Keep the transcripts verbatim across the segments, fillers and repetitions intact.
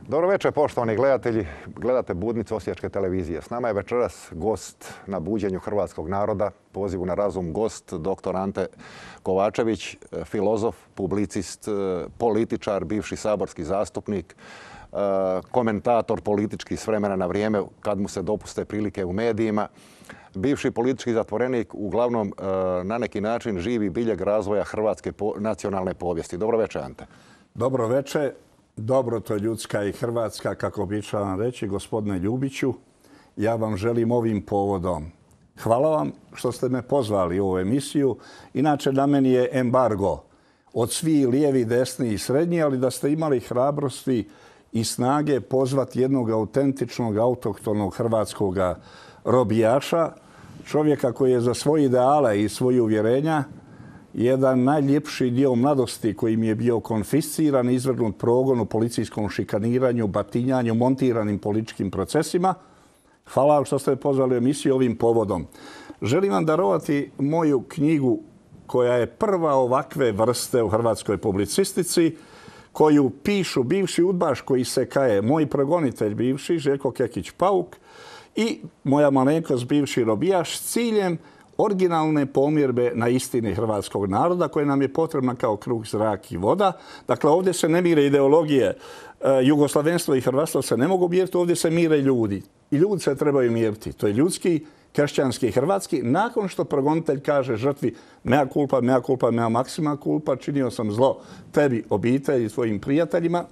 Dobro večer, poštovani gledatelji. Gledate Budnicu Osječke televizije. S nama je večeras gost na buđenju hrvatskog naroda, pozivu na razum gost, doktor Ante Kovačević, filozof, publicist, političar, bivši saborski zastupnik, komentator politički s vremena na vrijeme kad mu se dopuste prilike u medijima, bivši politički zatvorenik, uglavnom na neki način živi biljeg razvoja hrvatske nacionalne povijesti. Dobro večer, Ante. Dobro večer. Dobro to ljudska i hrvatska, kako običavam reći, gospodine Ljubiću. Ja vam želim ovim povodom. Hvala vam što ste me pozvali u ovu emisiju. Inače, na meni je embargo od svih lijevi, desni i srednji, ali da ste imali hrabrosti i snage pozvati jednog autentičnog, autohtonog hrvatskog robijaša, čovjeka koji je za svoje ideale i svoje uvjerenja jedan najljepši dio mladosti koji mi je bio konfisciran, izvrgnut progonu, policijskom šikaniranju, batinjanju, montiranim političkim procesima. Hvala vam što ste pozvali u emisiju ovim povodom. Želim vam darovati moju knjigu koja je prva ovakve vrste u hrvatskoj publicistici, koju pišu bivši udbaš koji se kaje, moj progonitelj bivši, Željko Kekić-Pauk, i moja malenkost bivši robijaš s ciljem originalne pomirbe na istini hrvatskog naroda koja nam je potrebna kao kruh, zrak i voda. Dakle, ovdje se ne mire ideologije. Jugoslavenstvo i hrvatstvo se ne mogu miriti, ovdje se mire ljudi. I ljudi se trebaju miriti. To je ljudski, kršćanski i hrvatski. Nakon što progonitelj kaže žrtvi mea culpa, mea culpa, mea maxima culpa, činio sam zlo tebi, obitelji i tvojim prijateljima,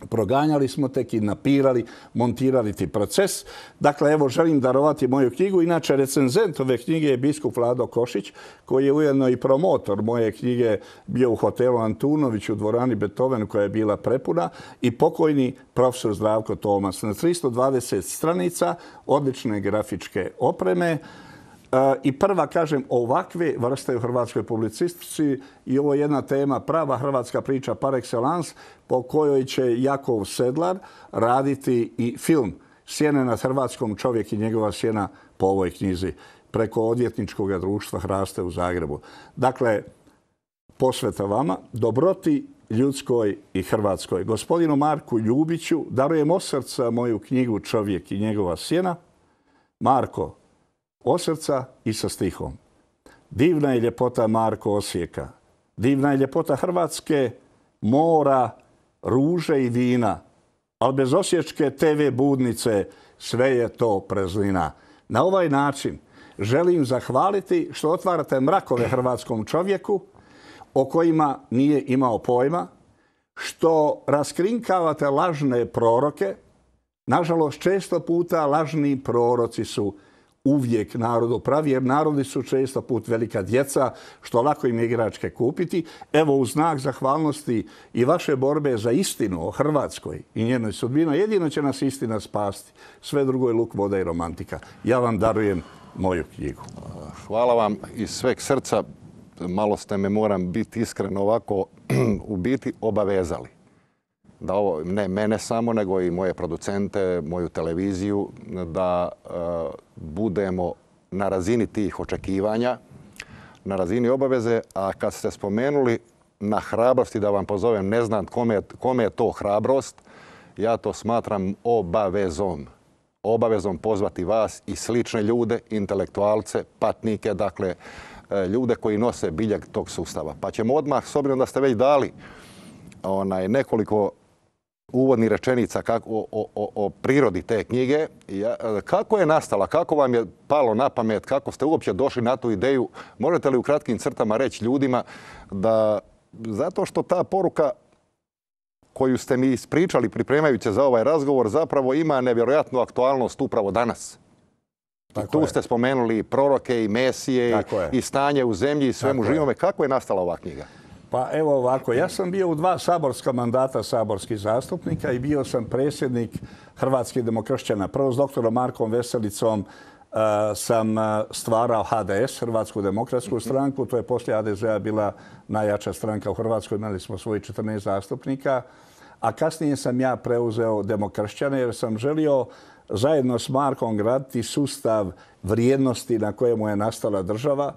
proganjali smo te, kidnapirali, montirali ti proces. Dakle, evo, želim darovati moju knjigu. Inače, recenzent ove knjige je biskup Vlado Košić, koji je ujedno i promotor moje knjige, bio u hotelu Antunović u dvorani Beethoven koja je bila prepuna, i pokojni profesor Zdravko Tomas. Na tristo dvadeset stranica, odlične grafičke opreme. I prva, kažem, ovakve vrste u hrvatskoj publicistici, i ovo je jedna tema, prava hrvatska priča par excellence, po kojoj će Jakov Sedlar raditi i film Sjene nad Hrvatskom, čovjek i njegova sjena, po ovoj knjizi, preko odvjetničkog društva Hraste u Zagrebu. Dakle, posveta vama, dobroti ljudskoj i hrvatskoj. Gospodinu Marku Ljubiću darujem od srca moju knjigu Čovjek i njegova sjena. Marko, od srca i sa stihom. Divna je ljepota, Marko, Osijeka. Divna je ljepota Hrvatske, mora, ruže i vina. Ali bez osječke te ve Budnice sve je to praznina. Na ovaj način želim zahvaliti što otvarate mrakove hrvatskom čovjeku o kojima nije imao pojma, što raskrinkavate lažne proroke. Nažalost, često puta lažni proroci su uvijek narodu pravi, jer narodi su često put velika djeca, što lako im je igračke kupiti. Evo, u znak zahvalnosti i vaše borbe za istinu o Hrvatskoj i njenoj sudbini, jedino će nas istina spasti. Sve drugo je luk, voda i romantika. Ja vam darujem moju knjigu. Hvala vam iz sveg srca. Malo ste me, moram biti iskren, ovako u biti obavezali. Da ovo, ne mene samo, nego i moje producente, moju televiziju, da uh, budemo na razini tih očekivanja, na razini obaveze. A kad ste spomenuli na hrabrosti, da vam pozovem, ne znam kome, kome je to hrabrost, ja to smatram obavezom. Obavezom pozvati vas i slične ljude, intelektualce, patnike, dakle, ljude koji nose biljeg tog sustava. Pa ćemo odmah, s obzirom da ste već dali onaj, nekoliko uvodnih rečenica kako, o, o, o prirodi te knjige. Ja, kako je nastala, kako vam je palo na pamet, kako ste uopće došli na tu ideju? Možete li u kratkim crtama reći ljudima da zato što ta poruka koju ste mi ispričali pripremajući za ovaj razgovor zapravo ima nevjerojatnu aktualnost upravo danas. Tako tu je. Ste spomenuli i proroke i mesije i, i stanje u zemlji i svemu živome. Kako je nastala ova knjiga? Pa evo ovako, ja sam bio u dva saborska mandata saborskih zastupnika i bio sam predsjednik Hrvatskih demokršćana. Prvo s doktorom Markom Veselicom uh, sam stvarao ha de es, Hrvatsku demokratsku stranku. To je poslije ha de zea bila najjača stranka u Hrvatskoj. Imali smo svojih četrnaest zastupnika. A kasnije sam ja preuzeo demokršćane jer sam želio zajedno s Markom graditi sustav vrijednosti na kojemu je nastala država.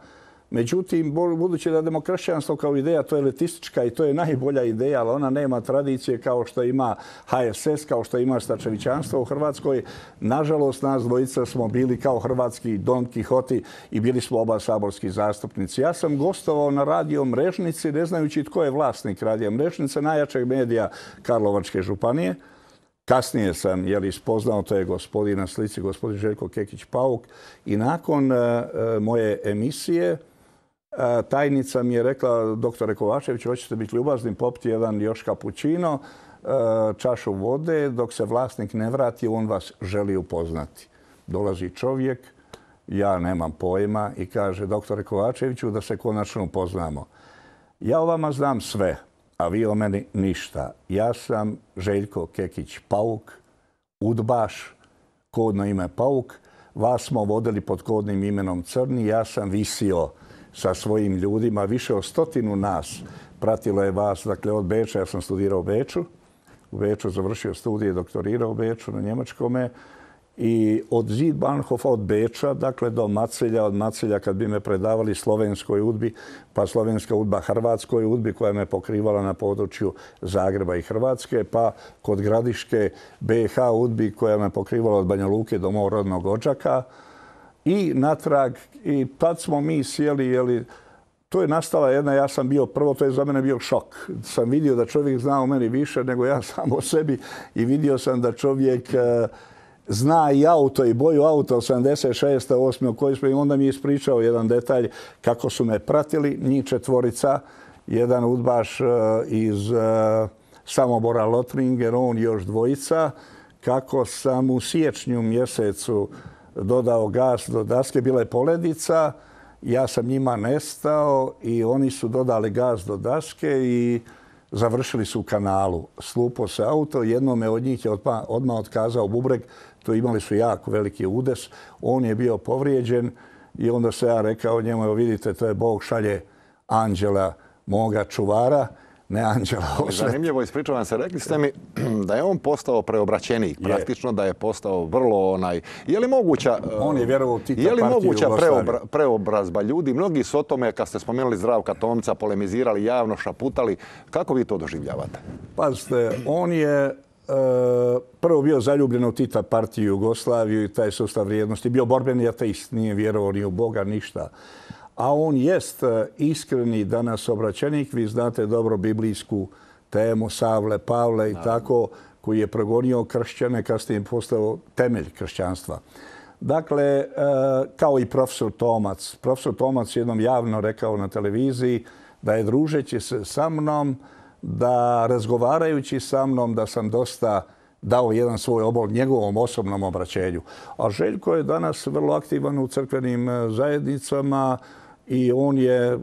Međutim, budući da demokršćanstvo kao ideja, to je elitistička i to je najbolja ideja, ali ona nema tradicije kao što ima ha es es, kao što ima stačevićanstvo u Hrvatskoj. Nažalost, nas dvojica smo bili kao hrvatski Don Kihoti i bili smo oba saborski zastupnici. Ja sam gostovao na Radio Mrežnici, ne znajući tko je vlasnik Radio Mrežnice, najjačeg medija Karlovačke županije. Kasnije sam jeli, spoznao, to je gospodin na slici, gospodin Željko Kekić-Pauk. I nakon uh, moje emisije uh, tajnica mi je rekla, doktore Kovačević, hoćete biti ljubazni, popiti jedan još kapućino, uh, čašu vode, dok se vlasnik ne vrati, on vas želi upoznati. Dolazi čovjek, ja nemam pojma i kaže, doktore Kovačeviću, da se konačno upoznamo. Ja o vama znam sve, a vi o meni ništa. Ja sam Željko Kekić-Pauk, udbaš, kodno ime Pauk. Vas smo vodili pod kodnim imenom Crni. Ja sam visio sa svojim ljudima. Više od stotinu nas pratilo je vas. Dakle, od Beča, ja sam studirao u Beču. U Beču završio studije, doktorirao u Beču na njemačkome. I od Zietbahnhofa, od Beča, dakle do Macelja, od Macelja kad bi me predavali slovenskoj udbi, pa slovenska udba hrvatskoj udbi koja me pokrivala na području Zagreba i Hrvatske, pa kod Gradiške be ha udbi koja me pokrivala od Banja Luke do mog rodnog Odžaka i natrag. I tad smo mi sjeli, jeli, to je nastala jedna, ja sam bio, prvo to je za mene bio šok. Sam vidio da čovjek zna o meni više nego ja sam o sebi i vidio sam da čovjek zna i auto i boju auta od sedamdeset šeste osme u kojoj smo, i onda mi je ispričao jedan detalj kako su me pratili, njih četvorica, jedan udbaš iz Samobora Lotringer, on još dvojica, kako sam u siječnju mjesecu dodao gas do daske, bila je poledica, ja sam njima nestao i oni su dodali gas do daske i završili su u kanalu. Slupo se auto, jednome od njih je odmah, odmah otkazao bubreg, to imali su jako veliki udes, on je bio povrijeđen i onda se ja rekao njemu, evo vidite, to je Bog šalje anđela moga čuvara, ne anđela osveta. Zanimljivo, ispričavam se, rekli ste mi da je on postao preobraćenik, je. Praktično da je postao vrlo onaj... Je li moguća, on je vjerovao Tita je li moguća preobra, preobrazba ljudi? Mnogi su o tome, kad ste spomenuli Zdravka Tomca, polemizirali javno, šaputali. Kako vi to doživljavate? Pazite, on je Uh, prvo bio zaljubljen u Tita partiju Jugoslaviju i taj sustav vrijednosti. Bio borbeni ateist, nije vjerovao ni u Boga, ništa. A on jest iskreni danas obraćenik. Vi znate dobro biblijsku temu Savle, Pavle i tako, koji je progonio kršćane, kasnije je postao temelj kršćanstva. Dakle, uh, kao i profesor Tomac. Profesor Tomac jednom javno rekao na televiziji da je družeći se sa mnom, da razgovarajući sa mnom da sam dosta dao jedan svoj obol njegovom osobnom obraćenju. A Željko je danas vrlo aktivan u crkvenim zajednicama i on je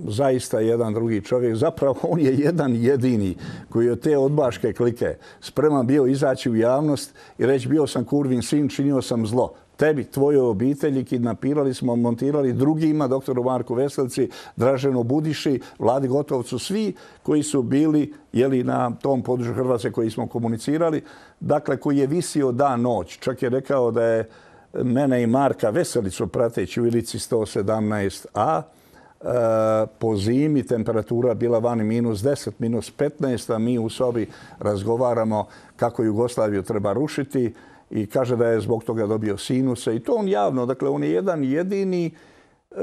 zaista jedan drugi čovjek. Zapravo on je jedan jedini koji je te odbaške klike spreman bio izaći u javnost i reći bio sam kurvin sin, činio sam zlo. Tebi, tvojoj obitelji, kidnapirali smo, montirali drugima, doktoru Marku Veselci, Draženu Budiši, Vladi Gotovcu, svi koji su bili jeli, na tom području Hrvatske koji smo komunicirali, dakle koji je visio dan noć. Čak je rekao da je mene i Marka Veselicu prateći u Ilici sto sedamnaest a, e, po zimi temperatura bila vani minus deset, minus petnaest, a mi u sobi razgovaramo kako Jugoslaviju treba rušiti. I kaže da je zbog toga dobio sinuse. I to on javno. Dakle, on je jedan jedini.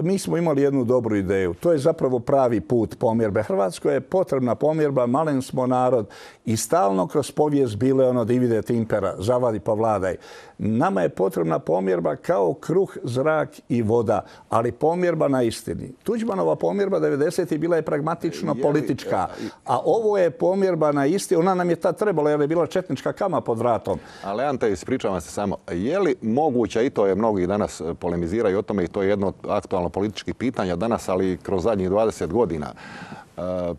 Mi smo imali jednu dobru ideju. To je zapravo pravi put pomirbe. Hrvatskoj je potrebna pomirba, malen smo narod i stalno kroz povijest bile ono divide et impera, zavadi pa vladaj. Nama je potrebna pomirba kao kruh, zrak i voda, ali pomirba na istini. Tuđmanova pomirba devedesetih bila je pragmatično politička, a ovo je pomirba na istini. Ona nam je tad trebala jer je bila četnička kama pod vratom. Ali Ante, ispričavam se samo, je li moguća, i to je mnogi danas polemiziraju o tome i to je jedno aktualno političkih pitanja danas, ali kroz zadnjih dvadeset godina,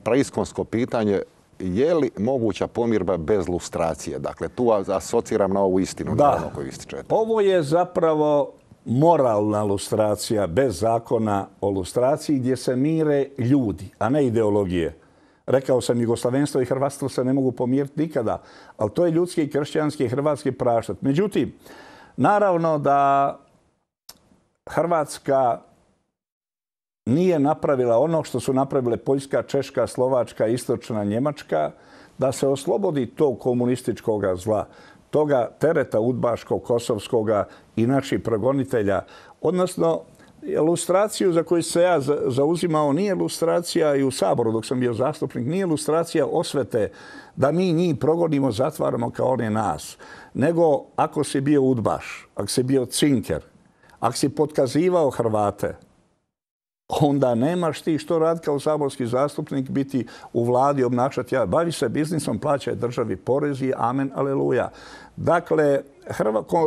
praiskonsko pitanje, je li moguća pomirba bez lustracije? Dakle, tu asociram na ovu istinu. Da, na ono koju ističete. Ovo je zapravo moralna lustracija bez zakona o lustraciji gdje se mire ljudi, a ne ideologije. Rekao sam, jugoslavenstvo i hrvatstvo se ne mogu pomiriti nikada, ali to je ljudski, kršćanski i hrvatski praštat. Međutim, naravno da Hrvatska nije napravila ono što su napravile Poljska, Češka, Slovačka, Istočna Njemačka, da se oslobodi tog komunističkog zla, toga tereta udbaškog, kosovskoga i naših progonitelja. Odnosno, lustraciju za koju se ja zauzimao nije lustracija i u Saboru dok sam bio zastupnik, nije lustracija osvete da mi njih progonimo, zatvaramo kao one nas. Nego ako si bio udbaš, ako si bio cinker, ako si potkazivao Hrvate, onda nemaš ti što raditi kao saborski zastupnik, biti u vladi, obnašati. Ja, bavi se biznisom, plaćaj državi porezi, amen, aleluja. Dakle,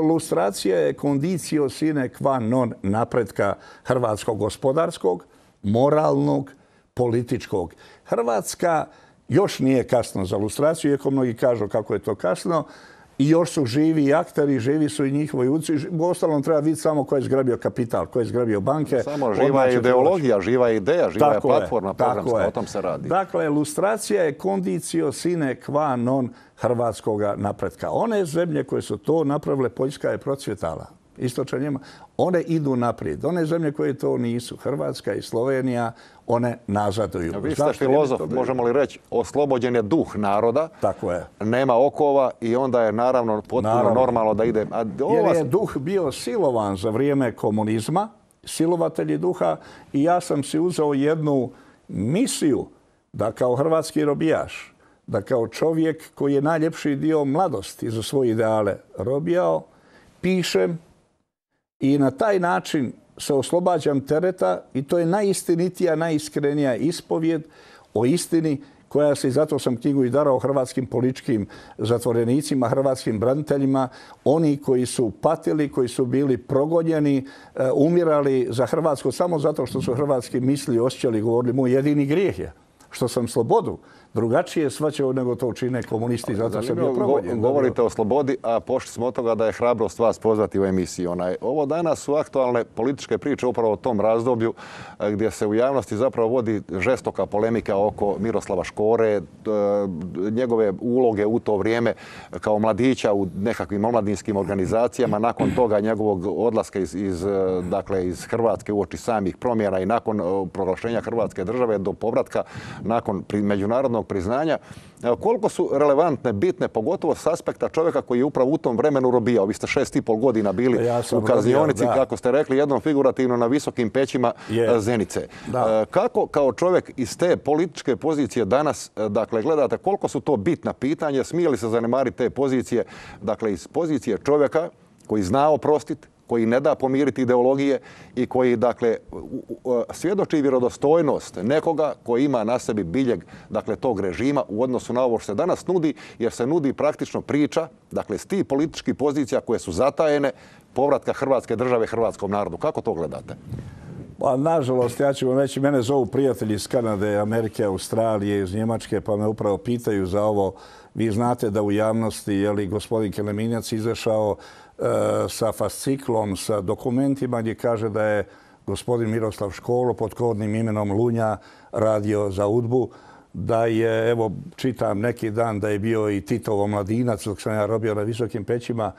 lustracija je condicio sine qua non napretka hrvatskog gospodarskog, moralnog, političkog. Hrvatska još nije kasno za lustraciju, iako mnogi kažu kako je to kasno. I još su živi i akteri, živi su i njihovi uci. U ostalom treba vidjeti samo ko je zgrabio kapital, ko je zgrabio banke. Samo živa je ideologija, živa je ideja, živa je platforma programska, o tom se radi. Dakle, lustracija je condicio sine qua non hrvatskog napretka. One zemlje koje su to napravile, Poljska je procvjetala. Istočna Njemačka, one idu naprijed. One zemlje koje to nisu, Hrvatska i Slovenija, one nazaduju. Vi ste filozof, možemo li reći, oslobođen je duh naroda. Tako je. Nema okova i onda je naravno potpuno normalno da ide. Jer je duh bio silovan za vrijeme komunizma, silovatelji duha, i ja sam si uzeo jednu misiju da kao hrvatski robijaš, da kao čovjek koji je najljepši dio mladosti za svoje ideale robijao, pišem i na taj način se oslobađam tereta i to je najistinitija, najiskrenija ispovjed o istini koja se, i zato sam knjigu i darao hrvatskim političkim zatvorenicima, hrvatskim braniteljima, oni koji su patili, koji su bili progonjeni, umirali za Hrvatsku samo zato što su hrvatski misli, osjećali, govorili, moj jedini grijeh je što sam slobodu drugačije shvaćao nego to čine komunisti, zato sam bio progonjen. Govorite o slobodi, a pošli smo od toga da je hrabrost vas pozvati u emisiju. Ovo danas su aktualne političke priče upravo o tom razdoblju gdje se u javnosti zapravo vodi žestoka polemika oko Miroslava Škore, njegove uloge u to vrijeme kao mladića u nekakvim omladinskim organizacijama, nakon toga njegovog odlaska iz, iz, dakle, iz Hrvatske uoči samih promjena i nakon proglašenja Hrvatske države do povratka nakon međunarodnog priznanja. Koliko su relevantne, bitne, pogotovo s aspekta čovjeka koji je upravo u tom vremenu robijao? Vi ste šest i pol godina bili ja u kaznionici, kako ste rekli, jednom figurativno na visokim pećima je. Zenice. Da. Kako kao čovjek iz te političke pozicije danas, dakle, gledate koliko su to bitna pitanja, smije li se zanemariti te pozicije, dakle, iz pozicije čovjeka koji zna oprostiti, koji ne da pomiriti ideologije i koji, dakle, svjedoči vjerodostojnost nekoga koji ima na sebi biljeg, dakle, tog režima u odnosu na ovo što se danas nudi, jer se nudi praktično priča, dakle, s tih političkih pozicija koje su zatajene, povratka Hrvatske države hrvatskom narodu. Kako to gledate? Pa, nažalost, ja ću vam reći, mene zovu prijatelji iz Kanade, Amerike, Australije, iz Njemačke, pa me upravo pitaju za ovo. Vi znate da u javnosti je li gospodin Keleminjac izašao sa fasciklom, sa dokumentima gdje kaže da je gospodin Miroslav Škoro pod kodnim imenom Lunja radio za udbu, da je, evo, čitam neki dan da je bio i Titov omladinac dok sam ja robio na visokim pećima.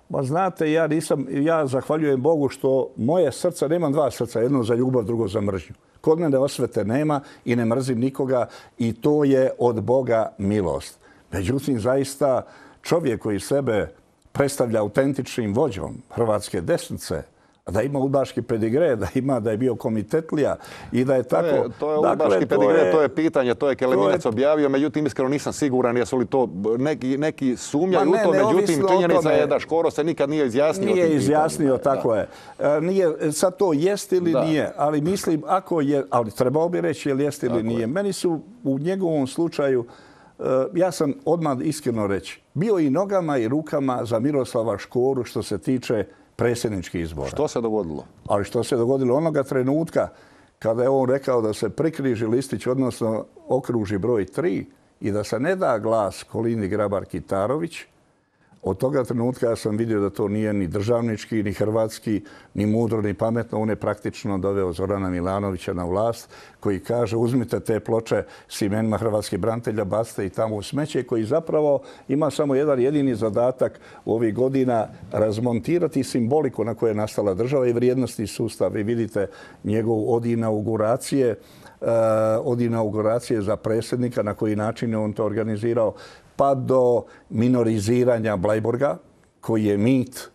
Ma znate, ja nisam, ja zahvaljujem Bogu što moje srca, nemam dva srca, jedno za ljubav, drugo za mržnju. Kod mene osvete nema i ne mrzim nikoga i to je od Boga milost. Međutim, zaista čovjek koji sebe predstavlja autentičnim vođom hrvatske desnice, da ima udbaški pedigre, da ima da je bio komitetlija i da je tako... To je, to je udbaški dakle, pedigre, to je, to je pitanje, to je Keleminac je... objavio, međutim, iskreno nisam siguran jesu li to neki, neki sumnjaju u to, međutim, činjenica je da Škoro se nikad nije izjasnio. Nije izjasnio, pitanjima. Tako da. je. Nije, sad to jest ili da. nije, ali mislim, ako je, ali trebao bi reći je li jest ili tako nije. Je. Meni su u njegovom slučaju, ja sam odmah iskreno reći, bio i nogama i rukama za Miroslava Škoru što se tiče predsjedničkih izbora. Što se dogodilo? Ali što se dogodilo onoga trenutka kada je on rekao da se prikriži listić, odnosno okruži broj tri i da se ne da glas Kolindi Grabar-Kitarović, Od toga trenutka ja sam vidio da to nije ni državnički, ni hrvatski, ni mudro, ni pametno. On je praktično doveo Zorana Milanovića na vlast, koji kaže uzmite te ploče s imenima hrvatskih branitelja, bacite i tamo u smeće, koji zapravo ima samo jedan jedini zadatak u ovih godina razmontirati simboliku na kojoj je nastala država i vrijednosti sustav. Vi vidite njegov od inauguracije, od inauguracije za predsjednika, na koji način je on to organizirao, pa do minoriziranja Bleiburga, koji je mit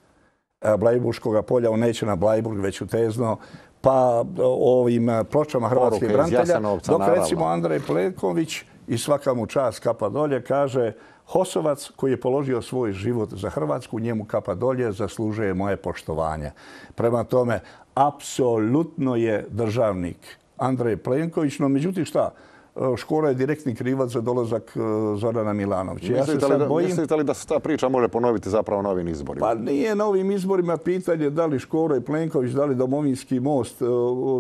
Blajburškog polja, on neće na Bleiburg, već u Tezno, pa ovim pločama hrvatskih branitelja, dok recimo Andrej Plenković, i svaka mu čast, kapa dolje, kaže Hosovac koji je položio svoj život za Hrvatsku, njemu kapa dolje, zaslužuje moje poštovanje. Prema tome, apsolutno je državnik Andrej Plenković, no međutim šta? Škoro je direktni krivac za dolazak Zorana Milanovića. Ja se sad bojim... Mislite li da se ta priča može ponoviti zapravo na ovim izborima? Pa nije na ovim izborima pitanje da li Škoro i Plenković, da li Domovinski most,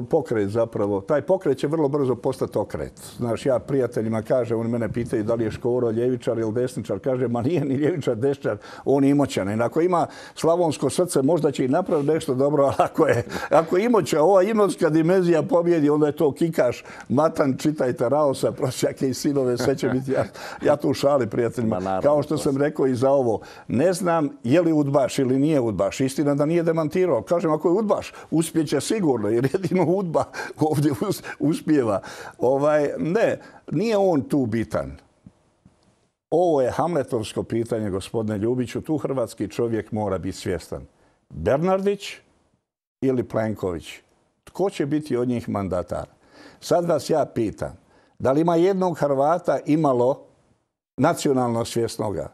pokret zapravo. Taj pokret će vrlo brzo postati okret. Znaš, ja prijateljima kažem, oni mene pitaju da li je Škoro ljevičar ili desničar. Kaže, ma nije ni ljevičar, desničar, on je imoćan. Ako ima slavonsko srce, možda će i napraviti nešto dobro, ali ako je, ako je imoća, ova imotska dimenzija pobjedi, onda je to kikaš, matan, čitajte Raosa, prosjake i sinove, sve će biti. Ja, ja tu šali, prijateljima. Naravno, kao što sam rekao i za ovo, ne znam je li udbaš ili nije udbaš. Istina da nije demantirao. Kažem, ako je udbaš, uspjeće sigurno, jer jedino udba ovdje uspijeva. Ovaj, ne, nije on tu bitan. Ovo je hamletovsko pitanje, gospodine Ljubiću. Tu hrvatski čovjek mora biti svjestan. Bernardić ili Plenković? Tko će biti od njih mandatar? Sad vas ja pitam, da li ima jednog Hrvata imalo nacionalno svjesnoga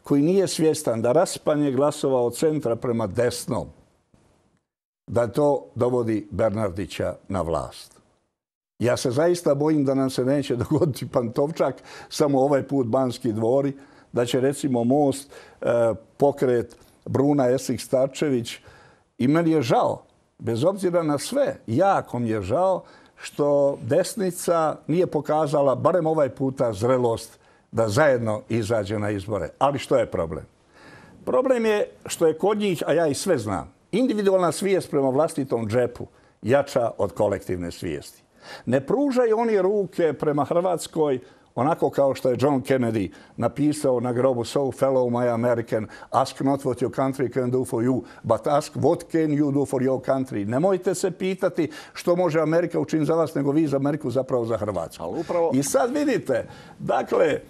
koji nije svjestan da raspanje glasova od centra prema desnom, da to dovodi Bernardića na vlast? Ja se zaista bojim da nam se neće dogoditi Pantovčak, samo ovaj put Banski dvori, da će recimo Most, pokret Bruna Esih-Starčević. I meni je žao, bez obzira na sve, jako mi je žao što desnica nije pokazala, barem ovaj puta, zrelost da zajedno izađe na izbore. Ali što je problem? Problem je što je kod njih, a ja i sve znam, individualna svijest prema vlastitom džepu jača od kolektivne svijesti. Ne pružaju oni ruke prema Hrvatskoj onako kao što je John Kennedy napisao na grobu So fellow my American, ask not what your country can do for you, but ask what can you do for your country. Nemojte se pitati što može Amerika učiniti za vas, nego vi za Ameriku, zapravo za Hrvatsku. Upravo... I sad vidite, dakle, e,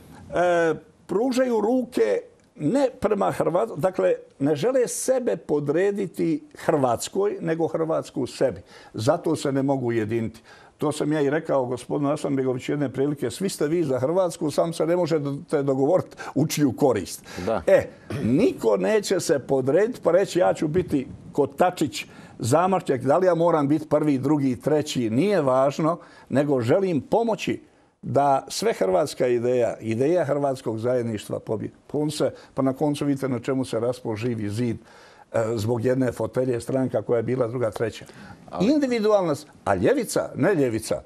pružaju ruke ne prema Hrvatskoj, dakle, ne žele sebe podrediti Hrvatskoj, nego Hrvatsku sebi. Zato se ne mogu ujediniti. To sam ja i rekao gospodinu Hasanbegoviću jedne prilike. Svi ste vi za Hrvatsku, sam se ne možete dogovoriti u čiju korist. Da. E, niko neće se podrediti pa reći ja ću biti Kotačić, Zamarčak, da li ja moram biti prvi, drugi, treći, nije važno, nego želim pomoći da sve hrvatska ideja, ideja hrvatskog zajedništva pobjede. Pa na koncu vidite na čemu se raspao Živi zid zbog jedne fotelje, stranka koja je bila druga, treća. Individualnost, a ljevica, ne ljevica.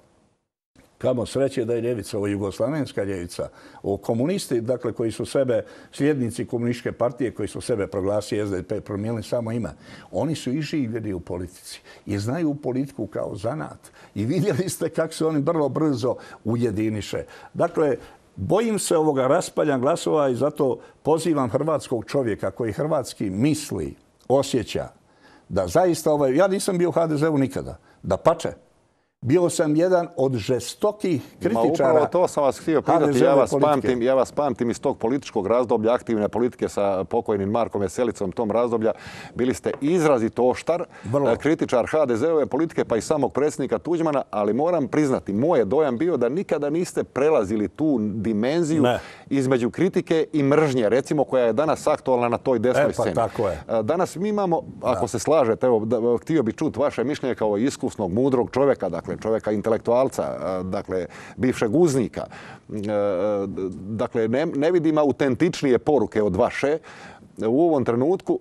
Kamo sreće da je ljevica, ovo jugoslavenska ljevica, ovo komunisti, dakle, koji su sebe, sljednici komunističke partije, koji su sebe proglasili S D P, promijenili samo ime. Oni su i živjeli u politici i znaju politiku kao zanat. I vidjeli ste kako se oni vrlo brzo ujediniše. Dakle, bojim se ovoga raspalja glasova i zato pozivam hrvatskog čovjeka koji hrvatski misli, osjeća da zaista ovaj... Ja nisam bio u H D Z-u nikada. Dapače, bio sam jedan od žestokih kritičara. Ma upravo to sam vas htio pitati. Ja vas, pamtim, ja vas pamtim iz tog političkog razdoblja, aktivne politike sa pokojnim Markom Veselicom tom razdoblja. Bili ste izrazito oštar, Vrlo. kritičar H D Z-ove politike, pa i samog predsjednika Tuđmana, ali moram priznati, moj je dojam bio da nikada niste prelazili tu dimenziju ne. između kritike i mržnje, recimo, koja je danas aktualna na toj desnoj e, pa, sceni. Tako je. Danas mi imamo, ako da. se slažete, evo, da, htio bih čuti vaše mišljenje kao iskusnog, mudrog čovjeka, dakle, čovjeka intelektualca, dakle, bivšeg uznika. Dakle, ne, ne vidim autentičnije poruke od vaše u ovom trenutku.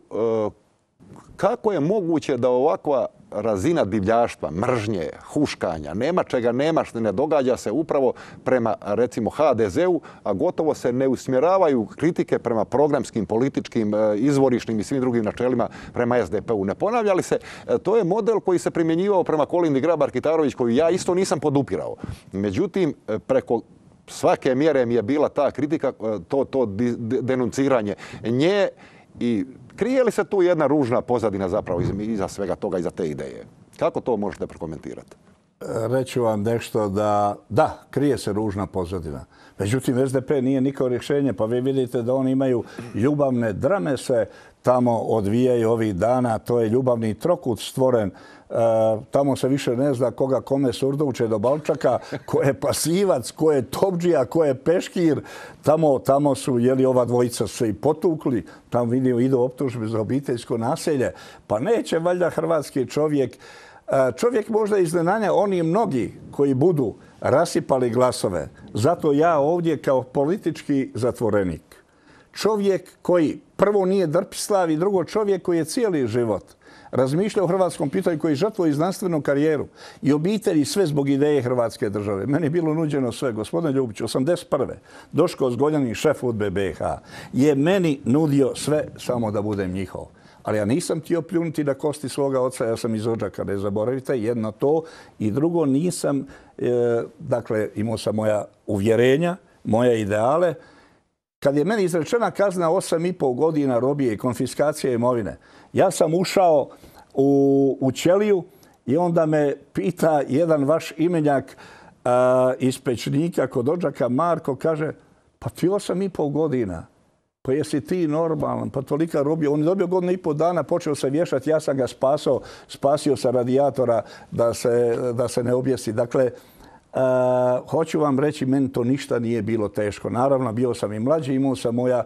kako je moguće da ovakva razina divljaštva, mržnje, huškanja, nema čega nema što ne događa se upravo prema, recimo, ha de zeu, a gotovo se ne usmjeravaju kritike prema programskim, političkim, izvorišnim i svim drugim načelima prema es de pe u. Ne ponavlja li se? To je model koji se primjenjivao prema Kolindi Grabar-Kitarović, koju ja isto nisam podupirao. Međutim, preko svake mjere mi je bila ta kritika, to, to denunciranje nje. I krije li se tu jedna ružna pozadina zapravo iza svega toga, iza te ideje? Kako to možete prokomentirati? Reću vam nešto da, da, krije se ružna pozadina. Međutim, es de pe nije niko rješenje, pa vi vidite da oni imaju ljubavne drame se tamo odvijaju ovih dana. To je ljubavni trokut stvoren. E, tamo se više ne zna koga kome surdovče do balčaka, ko je pasivac, ko je topdžija, ko je peškir. Tamo, tamo su, jeli, ova dvojica se i potukli. Tamo vidio idu optužbe za obiteljsko naselje. Pa neće valjda hrvatski čovjek. Čovjek možda iznenanja oni mnogi koji budu rasipali glasove. Zato ja ovdje kao politički zatvorenik. Čovjek koji prvo nije drpislav i drugo čovjek koji je cijeli život razmišlja o hrvatskom pitanju, koji žrtvuje i znanstvenu karijeru i obitelji, sve zbog ideje Hrvatske države. Meni je bilo nuđeno sve. Gospodine Ljubiću, osamdeset prve Doško Zgoljanin, šef U D B A be ha, je meni nudio sve samo da budem njihov. Ali ja nisam htio pljunuti na kosti svoga oca, ja sam iz Odžaka, ne zaboravite, jedno to. I drugo, nisam, e, dakle, imao sam moja uvjerenja, moje ideale. Kad je meni izrečena kazna osam i pol godina robije i konfiskacije imovine, ja sam ušao u, u ćeliju i onda me pita jedan vaš imenjak a, iz Pečnika kod Odžaka, Marko, kaže, pa ti osam i pol godina, pa jesi ti normalan, pa tolika robija. On je dobio godinu i pol dana, počeo se vješati, ja sam ga spasao, spasio sa radijatora da se, da se ne objesi. Dakle, Uh, hoću vam reći, meni to ništa nije bilo teško. Naravno, bio sam i mlađi, imao sam moja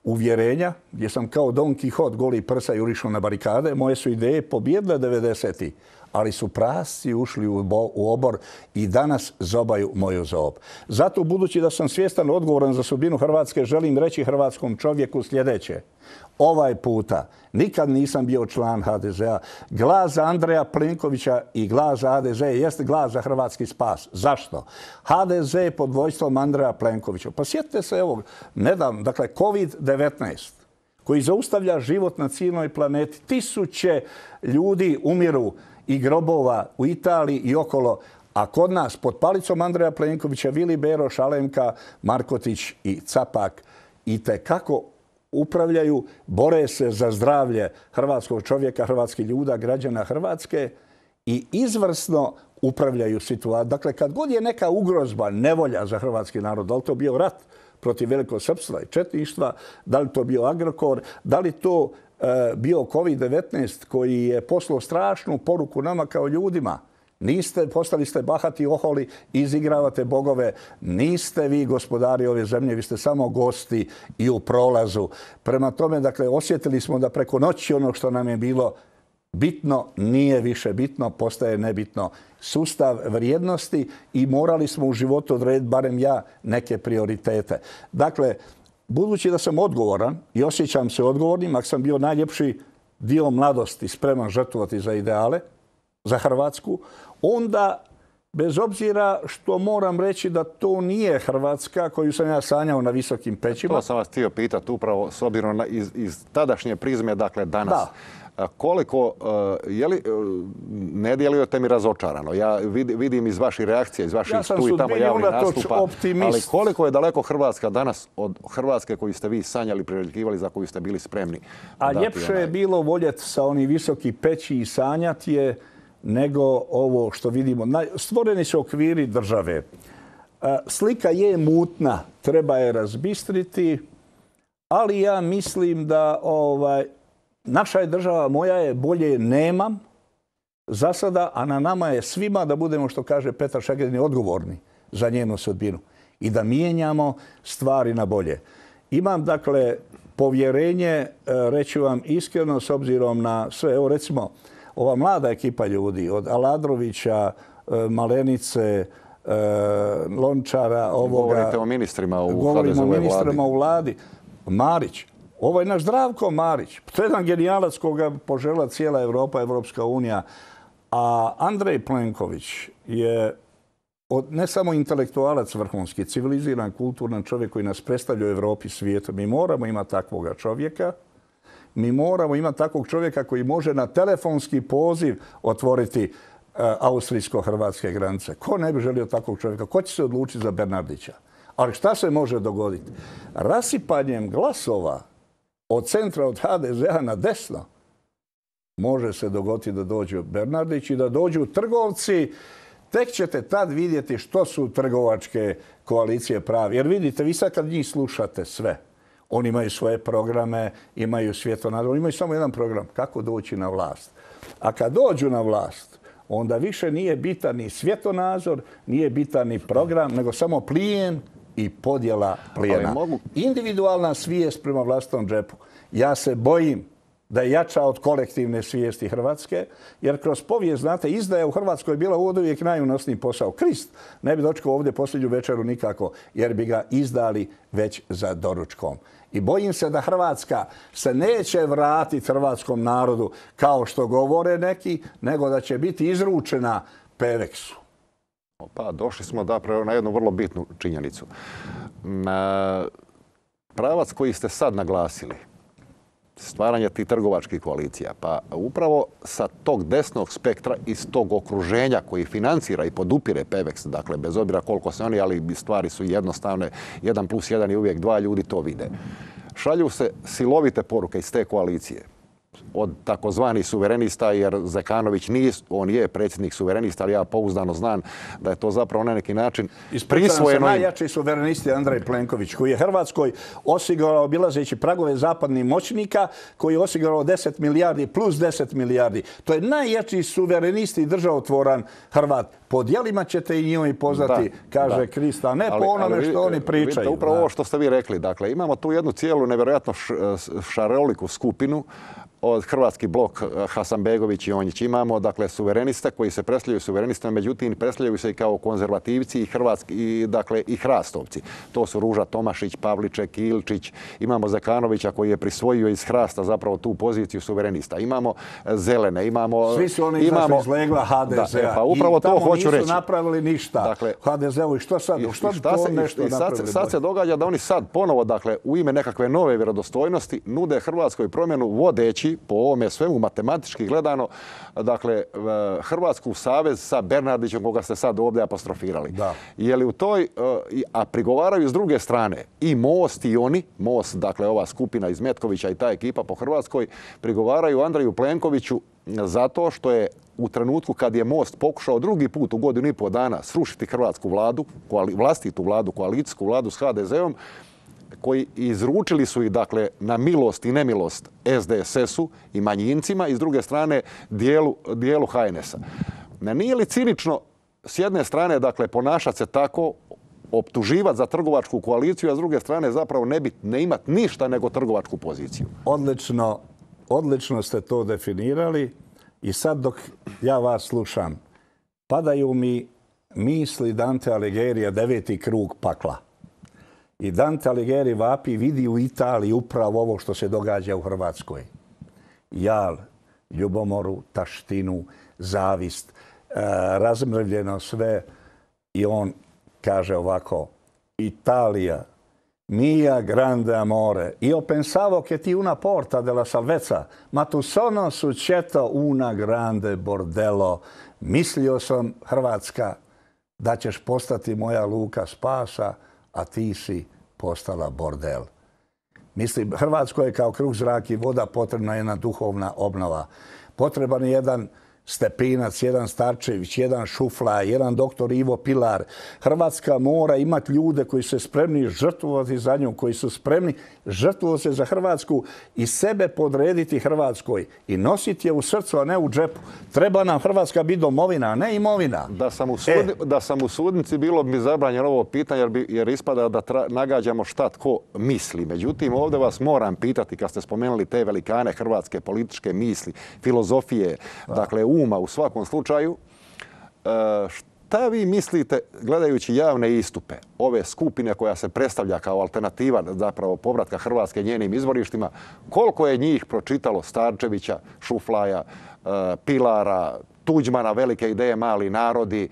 uvjerenja, gdje sam kao Don Quixote goli prsa jurišao na barikade. Moje su ideje pobjedile devedesetih, ali su prasci ušli u, bo, u obor i danas zobaju moju zob. Zato, budući da sam svjestan odgovoran za sudbinu Hrvatske, želim reći hrvatskom čovjeku sljedeće. Ovaj puta nikad nisam bio član ha de zea. Glas za Andreja Plenkovića i glas za ha de ze jeste glas za hrvatski spas. Zašto? ha de ze pod vojstvom Andreja Plenkovića. Pa sjetite se ovog nedavno, dakle, kovid devetnaest, koji zaustavlja život na cijeloj planeti. Tisuće ljudi umiru i grobova u Italiji i okolo, a kod nas pod palicom Andreja Plenkovića Vili Beroš, Alemka, Markotić i Capak i te kako upravljaju, bore se za zdravlje hrvatskog čovjeka, hrvatskih ljuda, građana Hrvatske i izvrsno upravljaju situaciju. Dakle, kad god je neka ugrozba, nevolja za hrvatski narod, da li to bio rat protiv velikog srpstva i četništva, da li to bio Agrokor, da li to e, bio kovid devetnaest koji je poslao strašnu poruku nama kao ljudima. Niste, postali ste bahati oholi, izigravate bogove. Niste vi gospodari ove zemlje, vi ste samo gosti i u prolazu. Prema tome, dakle, osjetili smo da preko noći ono što nam je bilo bitno nije više bitno, postaje nebitno. Sustav vrijednosti i morali smo u životu odrediti, barem ja, neke prioritete. Dakle, budući da sam odgovoran i osjećam se odgovornim, ako sam bio najljepši dio mladosti spreman žrtvovati za ideale, za Hrvatsku, onda, bez obzira što moram reći da to nije Hrvatska koju sam ja sanjao na visokim pećima. To sam vas htio pitati upravo s obzirom na iz, iz tadašnje prizme, dakle danas. Da. Koliko, je li, ne djelujete mi razočarano. Ja vidim iz vaših reakcija, iz vaših ja tu i tamo javnih nastupa, optimist. Ali koliko je daleko Hrvatska danas od Hrvatske koju ste vi sanjali, priželjkivali, za koju ste bili spremni? A ljepše je bilo voljeti sa onih visokih peći i sanjati je nego ovo što vidimo. Stvoreni su okviri države. Slika je mutna, treba je razbistriti, ali ja mislim da ovaj, naša je država, moja je, bolje nemam za sada, a na nama je svima da budemo, što kaže Petar Šegedin, odgovorni za njenu sudbinu i da mijenjamo stvari na bolje. Imam, dakle, povjerenje, reću vam iskreno, s obzirom na sve. Evo, recimo, ova mlada ekipa ljudi, od Aladrovića, Malenice, Lončara, ovoga... Govorite o ministrima u Govorimo o ministrima vladi. u vladi. Marić. Ovo je naš Zdravko Marić. To je jedan genijalac koga požela cijela Evropa, Evropska unija. A Andrej Plenković je od, ne samo intelektualac vrhunski, civiliziran, kulturan čovjek koji nas predstavlja u Evropi, svijetu. Mi moramo imati takvoga čovjeka. Mi moramo imati takvog čovjeka koji može na telefonski poziv otvoriti uh, austrijsko-hrvatske granice. Ko ne bi želio takvog čovjeka? Ko će se odlučiti za Bernardića? Ali šta se može dogoditi? Rasipanjem glasova od centra, od ha de zea na desno, može se dogoditi da dođu Bernardić i da dođu trgovci. Tek ćete tad vidjeti što su trgovačke koalicije pravi. Jer vidite, vi sad kad njih slušate sve, oni imaju svoje programe, imaju svjetonazor, imaju samo jedan program, kako doći na vlast. A kad dođu na vlast, onda više nije bitan ni svjetonazor, nije bitan ni program, nego samo plijen i podjela plijena. Mogu... Individualna svijest prema vlastitom džepu. Ja se bojim da je jača od kolektivne svijesti Hrvatske, jer kroz povijest, znate, izdaja u Hrvatskoj je bila uvijek najunosniji posao. Krist ne bi dočekao ovdje posljednju večeru nikako, jer bi ga izdali već za doručkom. I bojim se da Hrvatska se neće vratiti hrvatskom narodu kao što govore neki, nego da će biti izručena Peveksu. Pa došli smo da na jednu vrlo bitnu činjenicu. Na pravac koji ste sad naglasili, stvaranje tih trgovačkih koalicija, pa upravo sa tog desnog spektra, iz tog okruženja koji financira i podupire Peveks, dakle bez obzira koliko se oni, ali stvari su jednostavne, jedan plus jedan i uvijek dva, ljudi to vide. Šalju se silovite poruke iz te koalicije od takozvanih suverenista, jer Zekanović nije, on je predsjednik suverenista, ali ja pouzdano znam da je to zapravo na neki način prisvojeno. Najjači suverenisti Andrej Plenković, koji je Hrvatskoj osigurao, obilazeći pragove zapadnih moćnika, koji je osigurao deset milijardi plus deset milijardi. To je najjači suverenisti i državotvoran Hrvat. Po djelima ćete i njoj poznati, da, kaže da. Krista, ne ali, po onome ali, što oni pričaju. Vidite, upravo da. Ovo što ste vi rekli. Dakle, imamo tu jednu cijelu nevjerojatno šaroliku skupinu od Hrvatski blok, Hasanbegović i Onjić. Imamo, dakle, suvereniste koji se predstavljaju suverenistima, međutim, predstavljaju se i kao konzervativci i hrvatski, i, dakle, i hrastovci. To su Ruža Tomašić, Pavliček, Ilčić. Imamo Zekanovića koji je prisvojio iz Hrasta zapravo tu poziciju suverenista. Imamo zelene, imamo... Svi su oni izašli iz legla ha de zea. Da, pa upravo to hoću reći. Nisu napravili ništa. Dakle, ha de zeu i što sad? Što šta to se, nešto i sad, sad se događa da oni sad ponovo, dakle, u ime nekakve nove vjerodostojnosti nude Hrvatskoj promjenu vodeći po ovome svemu matematički gledano, dakle, Hrvatsku savez sa Bernardićem, koga ste sad ovdje apostrofirali. Da. Je li u toj, a prigovaraju s druge strane i Most i oni, Most, dakle, ova skupina iz Metkovića i ta ekipa po Hrvatskoj, prigovaraju Andreju Plenkoviću zato što je u trenutku kad je Most pokušao drugi put u godinu i pol dana srušiti hrvatsku vladu, vlastitu vladu, koalicijsku vladu s ha de zeom, koji izručili su ih, dakle, na milost i nemilost es de es esu i manjincima i s druge strane dijelu, dijelu ha en esa. Nije li cinično s jedne strane, dakle, ponašati se tako, optuživati za trgovačku koaliciju, a s druge strane zapravo ne, bit, ne imati ništa nego trgovačku poziciju? Odlično, odlično ste to definirali i sad dok ja vas slušam, padaju mi misli Dante Alighieri, deveti krug pakla. I Dante Alighieri vapi, vidi u Italiji upravo ovo što se događa u Hrvatskoj. Jal, ljubomoru, taštinu, zavist, e, razmrvljeno sve. I on kaže ovako, Italija, mia grande amore, io pensavo che ti una porta della salvezza, ma tu sono succetto una grande bordello. Mislio sam, Hrvatska, da ćeš postati moja luka spasa, a ti si postala bordel. Mislim, Hrvatskoj je kao kruh, zrak i voda potrebna jedna duhovna obnova. Potreban je jedan Stepinac, jedan Starčević, jedan Šufla, jedan doktor Ivo Pilar. Hrvatska mora imati ljude koji su spremni žrtvovati za nju, koji su spremni žrtvovati se za Hrvatsku i sebe podrediti Hrvatskoj i nositi je u srcu, a ne u džepu. Treba nam Hrvatska biti domovina, a ne imovina. Da sam u, sudni, e. da sam u sudnici, bilo bi zabranjeno ovo pitanje, jer, bi, jer ispada da tra, nagađamo šta tko misli. Međutim, ovdje vas moram pitati, kad ste spomenuli te velikane hrvatske političke misli, filozofije, da. dakle, uma u svakom slučaju, Šta vi mislite, gledajući javne istupe ove skupine koja se predstavlja kao alternativa zapravo povratka Hrvatske njenim izvorištima, koliko je njih pročitalo Starčevića, Šuflaja, Pilara, Tuđmana, velike ideje, mali narodi?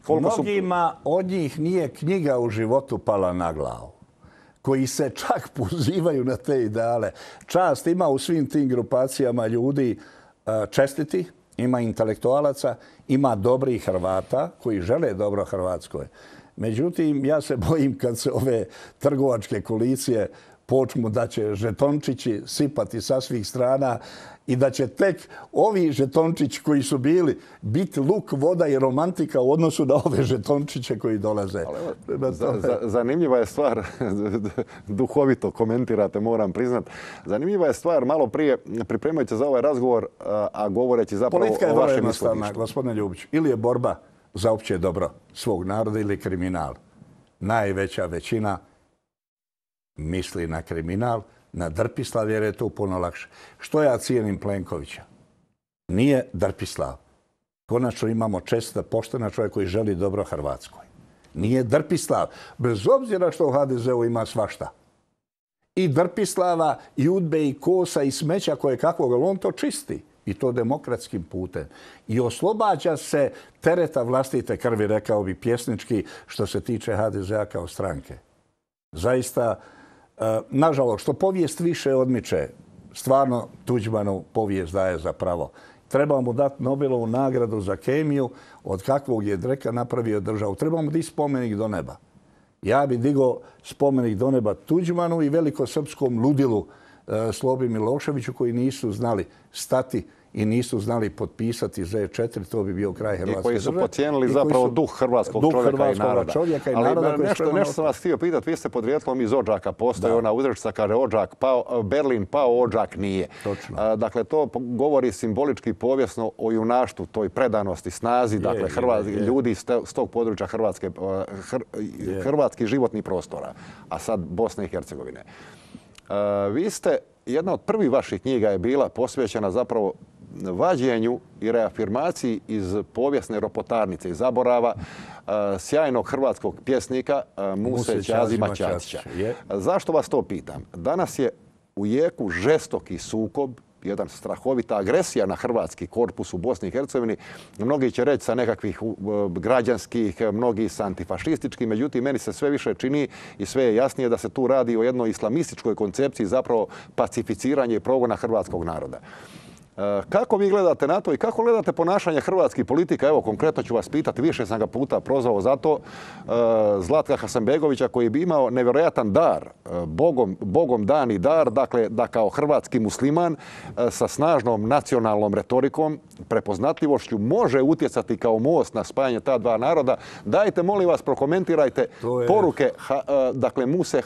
Mnogima od njih nije knjiga u životu pala na glavu, koji se čak pozivaju na te ideale. Čast ima u svim tim grupacijama ljudi čestiti, ima intelektualaca, ima dobrih Hrvata koji žele dobro Hrvatskoj. Međutim, ja se bojim kad se ove trgovačke koalicije počnu da će žetončići sipati sa svih strana i da će tek ovi žetončići koji su bili biti luk, voda i romantika u odnosu na ove žetončiće koji dolaze. Ali, za, za, zanimljiva je stvar, duhovito komentirate, moram priznat. Zanimljiva je stvar, malo prije pripremajući za ovaj razgovor, a, a govoreći zapravo politika je o vrlo vašem jednostavna, ishodištu. gospodine Ljubić. Ili je borba za opće dobro svog naroda ili kriminal. Najveća većina misli na kriminal, na Drpislav, jer je to puno lakše. Što ja cijenim Plenkovića? Nije Drpislav. Konačno imamo čestita, poštena čovjek koji želi dobro Hrvatskoj. Nije Drpislav, bez obzira što u ha de zeu ima svašta. I Drpislava, i udbe, i kosa, i smeća koje kakvog, ali on to čisti. I to demokratskim putem. I oslobađa se tereta vlastite krvi, rekao bi pjesnički, što se tiče ha de zea kao stranke. Zaista, nažalost, što povijest više odmiče, stvarno Tuđmanu povijest daje za pravo. Treba mu dati Nobelovu nagradu za kemiju, od kakvog je Dreka napravio državu. Treba mu dići spomenik do neba. Ja bi digao spomenik do neba Tuđmanu i velikosrpskom ludilu Slobi Miloševiću koji nisu znali stati i nisu znali potpisati zet četiri, to bi bio kraj Hrvatske države. I koji su pocijenili zapravo su, duh hrvatskog duh čovjeka hrvatskog i naroda. Čovjeka i Ali naroda nešto, nešto sam vas htio pitati, vi ste podrijetlom iz Odžaka, postoji ona uzrečica, kaže Odžak pao, Berlin pao, Odžak nije. Točno. A, dakle, to govori simbolički povijesno o junaštu, toj predanosti, snazi, je, dakle, Hrvat, je, je. ljudi s tog područja Hrvatske, hr, hrvatskih životnih prostora, a sad Bosne i Hercegovine. A, vi ste, jedna od prvih vaših knjiga je bila posvećena zapravo vađenju i reafirmaciji iz povijesne ropotarnice i zaborava sjajnog hrvatskog pjesnika Muse Ćazima Ćatića. Zašto vas to pitam? Danas je u jeku žestoki sukob, jedan strahovita agresija na hrvatski korpus u Bosni i Hercegovini. Mnogi će reći sa nekakvih građanskih, mnogi sa antifašističkih. Međutim, meni se sve više čini i sve je jasnije da se tu radi o jednoj islamističkoj koncepciji, zapravo pacificiranje i progona hrvatskog naroda. Kako vi gledate na to i kako gledate ponašanje hrvatskih politika? Evo, konkretno ću vas pitati, više sam ga puta prozvao za to, Zlatka Hasanbegovića koji bi imao nevjerojatan dar, bogom, bogom dani dar, dakle da kao hrvatski musliman sa snažnom nacionalnom retorikom, prepoznatljivošću može utjecati kao most na spajanje ta dva naroda. Dajte, molim vas, prokomentirajte je... poruke dakle, Muse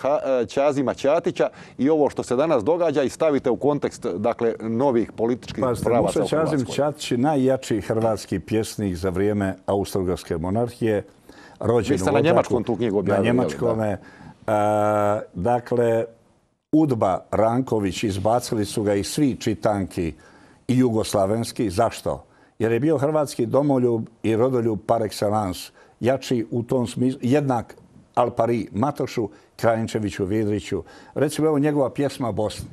Ćazima Ćatića i ovo što se danas događa i stavite u kontekst dakle, novih političkih Pazite, Muse Ćazim Ćatić je najjači hrvatski pjesnik za vrijeme Austro-Ugarske monarhije. Rođen Vi ste na njemačkom tu knjigu objavili. Na njemačkome. Da. E, dakle, Udba Ranković, izbacili su ga i svi čitanki i jugoslavenski. Zašto? Jer je bio hrvatski domoljub i rodoljub par excellence. Jači u tom smislu, jednak al pari Matošu, Krajinčeviću, Vidriću. Recimo, evo njegova pjesma Bosni.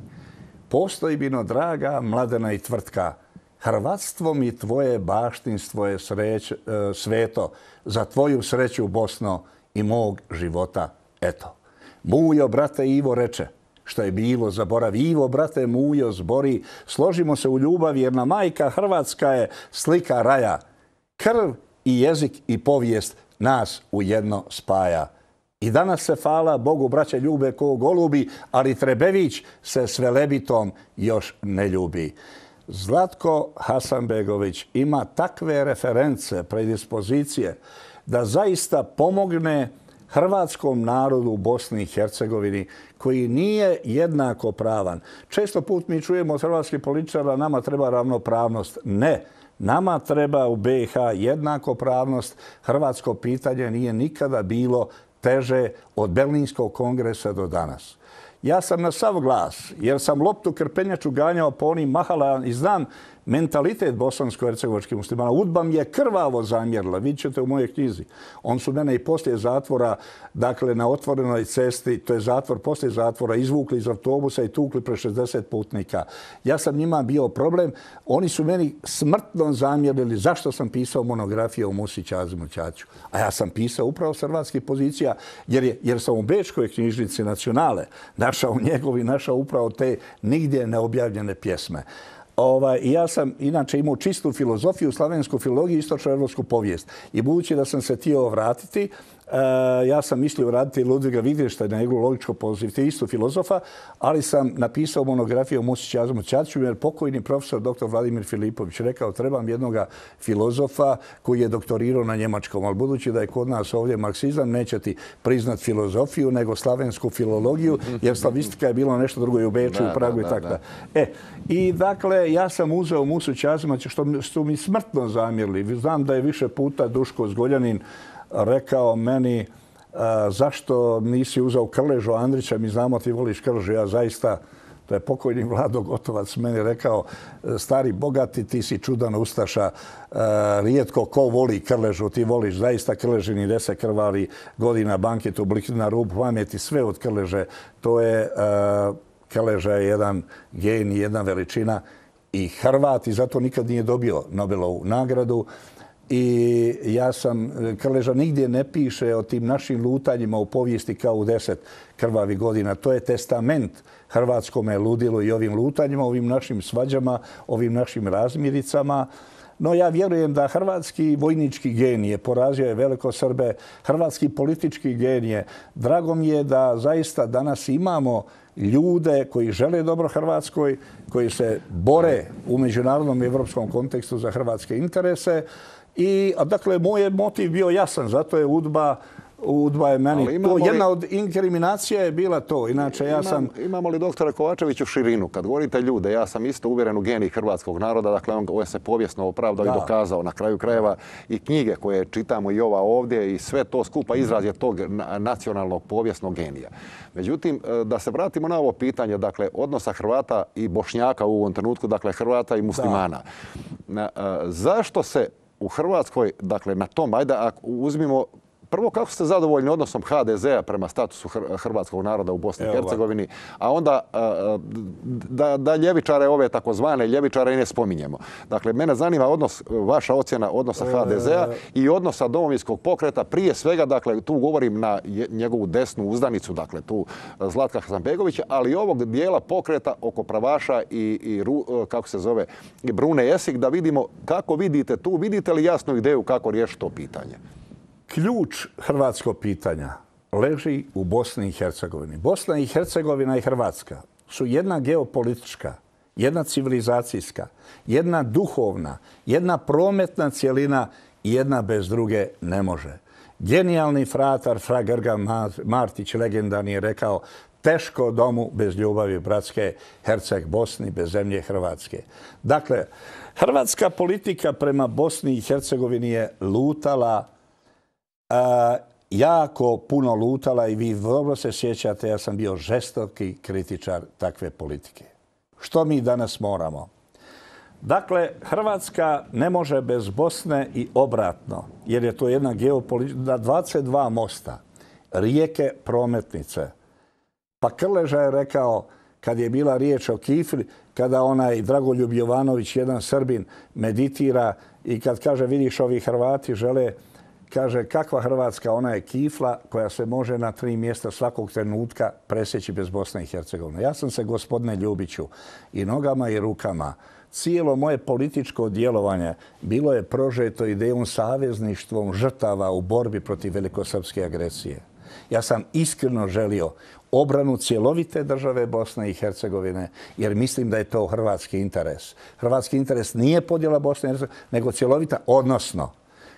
Postoji bino draga, mladena i tvrtka. Hrvatstvo mi tvoje baštinstvo je sreć, sveto. Za tvoju sreću, Bosno, i mog života. Eto. Mujo, brate, Ivo reče. Što je bilo, zaboravi. Ivo, brate, Mujo, zbori. Složimo se u ljubavi, jer na majka Hrvatska je slika raja. Krv i jezik i povijest nas ujedno spaja. I danas se, hvala Bogu, braća ljube ko golubi, ali Trebević se s Velebitom još ne ljubi. Zlatko Hasanbegović ima takve reference, predispozicije, da zaista pomogne hrvatskom narodu u Bosni i Hercegovini, koji nije jednako pravan. Često put mi čujemo od hrvatskih političara, nama treba ravnopravnost. Ne. Nama treba u be i ha jednakopravnost. Hrvatsko pitanje nije nikada bilo teže od Berlinskog kongresa do danas. Ja sam na sav glas, jer sam loptu krpenjaču ganjao po onim mahala i znam mentalitet bosansko-hercegovačkih muslimana. UDBA mi je krvavo zamjerila, vidjet ćete u mojoj knjizi. On su mene i poslije zatvora, dakle na otvorenoj cesti, to je zatvor, poslije zatvora, izvukli iz autobusa i tukli pre šezdeset putnika. Ja sam njima bio problem. Oni su meni smrtno zamjerili zašto sam pisao monografiju o Musi Kazemu Ćaću. A ja sam pisao upravo s hrvatskih pozicija, jer, je, jer sam u Bečkoj knjižnici Nacionale našao njegovi, našao upravo te nigdje neobjavljene pjesme. Ovaj, ja sam inače imao čistu filozofiju, slavensku filologiju i istočnoevropsku povijest. I budući da sam se htio vratiti, uh, ja sam mislio vratiti Ludviga Wittgensteina, njegovu logičku pozitivistu filozofa, ali sam napisao monografiju o Musi Kazemu Ćaću jer pokojni profesor doktor Vladimir Filipović rekao trebam jednog filozofa koji je doktorirao na njemačkom, ali budući da je kod nas ovdje marksizam, neće ti priznat filozofiju, nego slavensku filologiju, jer slavistika je bilo nešto drugo i u Beču, u Pragu i tako da. E, i dakle, ja sam uzeo Musu Kazema što su mi smrtno zamjerili. Znam da je više puta Duško Zgoljanin rekao meni zašto nisi uzeo Krležu Andrića, mi znamo ti voliš Krležu, ja zaista, to je pokojni Vlado Gotovac meni rekao, stari bogati, ti si čudan ustaša, rijetko ko voli Krležu, ti voliš zaista Krležini deset krvari godina banketu, blik na rub pameti, sve od Krleže, to je, Krleža je jedan genij, jedna veličina i Hrvat i zato nikad nije dobio Nobelovu nagradu. I ja sam, Krleža nigdje ne piše o tim našim lutanjima u povijesti kao u deset krvavi godina. To je testament hrvatskome ludilu i ovim lutanjima, ovim našim svađama, ovim našim razmiricama. No ja vjerujem da hrvatski vojnički genije, porazio je velikosrbe, hrvatski politički genije. Drago mi je da zaista danas imamo ljude koji žele dobro Hrvatskoj, koji se bore u međunarodnom i evropskom kontekstu za hrvatske interese. I, a dakle, moj je motiv bio jasan, zato je UDBA, UDBA je meni, to, jedna od inkriminacija je bila to, inače ja sam... Imam, imamo li doktore Kovačeviću širinu? Kad govorite ljude, ja sam isto uvjeren u genij hrvatskog naroda, dakle on, on se povijesno opravdao i dokazao na kraju krajeva i knjige koje čitamo i ova ovdje i sve to skupa izraz je tog nacionalnog povijesnog genija. Međutim, da se vratimo na ovo pitanje, dakle, odnosa Hrvata i Bošnjaka u ovom trenutku, dakle, Hrvata i muslimana. Na, zašto se u Hrvatskoj, dakle, na tom, ajde, ako uzmimo, prvo, kako ste zadovoljni odnosom ha de zea prema statusu hrvatskog naroda u Bosni i Hercegovini, a onda da, da ljevičare, ove takozvane ljevičare, i ne spominjemo. Dakle, mene zanima odnos, vaša ocjena odnosa ha de zea i odnosa Domovinskog pokreta, prije svega, dakle, tu govorim na njegovu desnu uzdanicu, dakle, tu Zlatka Hasanbegovića, ali i ovog dijela pokreta oko pravaša i, i kako se zove, i Brune Esih, da vidimo kako vidite tu, vidite li jasnu ideju kako riješiti to pitanje? Ključ hrvatskog pitanja leži u Bosni i Hercegovini. Bosna i Hercegovina i Hrvatska su jedna geopolitička, jedna civilizacijska, jedna duhovna, jedna prometna cjelina i jedna bez druge ne može. Genijalni fratar Fra Grgan Martić, legendarni, je rekao teško domu bez ljubavi bratske, Herceg Bosni bez zemlje Hrvatske. Dakle, hrvatska politika prema Bosni i Hercegovini je lutala Uh, jako puno lutala i vi dobro se sjećate, ja sam bio žestoki kritičar takve politike. Što mi danas moramo? Dakle, Hrvatska ne može bez Bosne i obratno, jer je to jedna geopolitika, dvadeset dva mosta, rijeke, prometnice. Pa Krleža je rekao, kad je bila riječ o kifli, kada onaj Dragoljub Jovanović, jedan Srbin, meditira i kad kaže, vidiš, ovi Hrvati žele, kaže, kakva Hrvatska, ona je kifla koja se može na tri mjesta svakog trenutka presjeći bez Bosne i Hercegovine. Ja sam se, gospodine Ljubiću, i nogama i rukama, cijelo moje političko djelovanje bilo je prožeto idejom savezništvom žrtava u borbi protiv velikosrpske agresije. Ja sam iskreno želio obranu cjelovite države Bosne i Hercegovine, jer mislim da je to hrvatski interes. Hrvatski interes nije podjela Bosne i Hercegovine, nego cjelovita, odnosno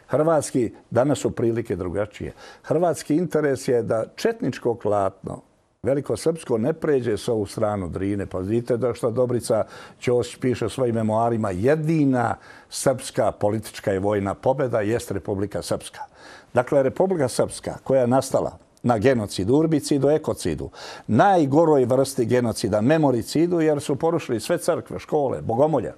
hrvatski, danas su prilike drugačije. Hrvatski interes je da četničko klatno, velikosrpsko, ne pređe s ovu stranu Drine. Pa vidite da što Dobrica Ćosić piše u svojim memoarima, jedina srpska politička i vojna pobjeda jest Republika Srpska. Dakle, Republika Srpska koja je nastala na genocidu, urbicidu, ekocidu, najgoroj vrsti genocida, memoricidu, jer su porušili sve crkve, škole, bogomolje.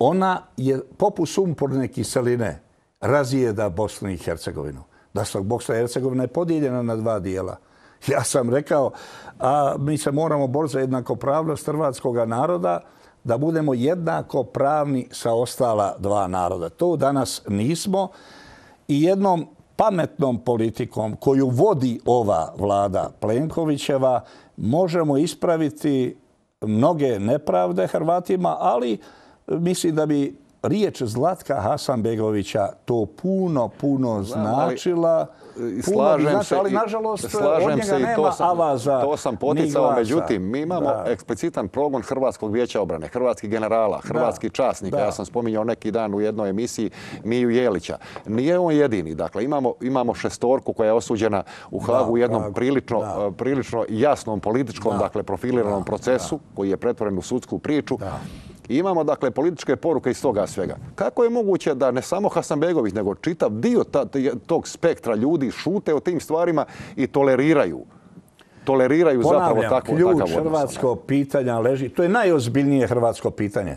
ona je poput sumporne kiseline razijeda Bosnu i Hercegovinu. Da se Bosna i Hercegovina je podijeljena na dva dijela. Ja sam rekao, a mi se moramo boriti za jednakopravnost hrvatskog naroda, da budemo jednako pravni sa ostala dva naroda. To danas nismo i jednom pametnom politikom koju vodi ova vlada Plenkovićeva možemo ispraviti mnoge nepravde Hrvatima, ali mislim da bi riječ Zlatka Hasanbegovića to puno, puno značila. Slažem se, ali nažalost slažem od njega se i nema to sam, avaza to sam ni poticao, glasa. međutim, mi imamo Da. eksplicitan progon Hrvatskog vijeća obrane, hrvatskih generala, hrvatskih časnika. Da. Ja sam spominjao neki dan u jednoj emisiji Miju Jelića. Nije on jedini. Dakle, imamo, imamo šestorku koja je osuđena u Hagu Da, u jednom Hagu. prilično, Da. prilično jasnom političkom, Da. dakle, profiliranom Da. procesu koji je pretvoren u sudsku priču. Da. I imamo, dakle, političke poruke iz toga svega. Kako je moguće da ne samo Hasanbegović, nego čitav dio ta, tog spektra ljudi šute o tim stvarima i toleriraju? Toleriraju zapravo Ponavljam, takvo, ključ takav odnos. hrvatskog pitanja leži. To je najozbiljnije hrvatsko pitanje.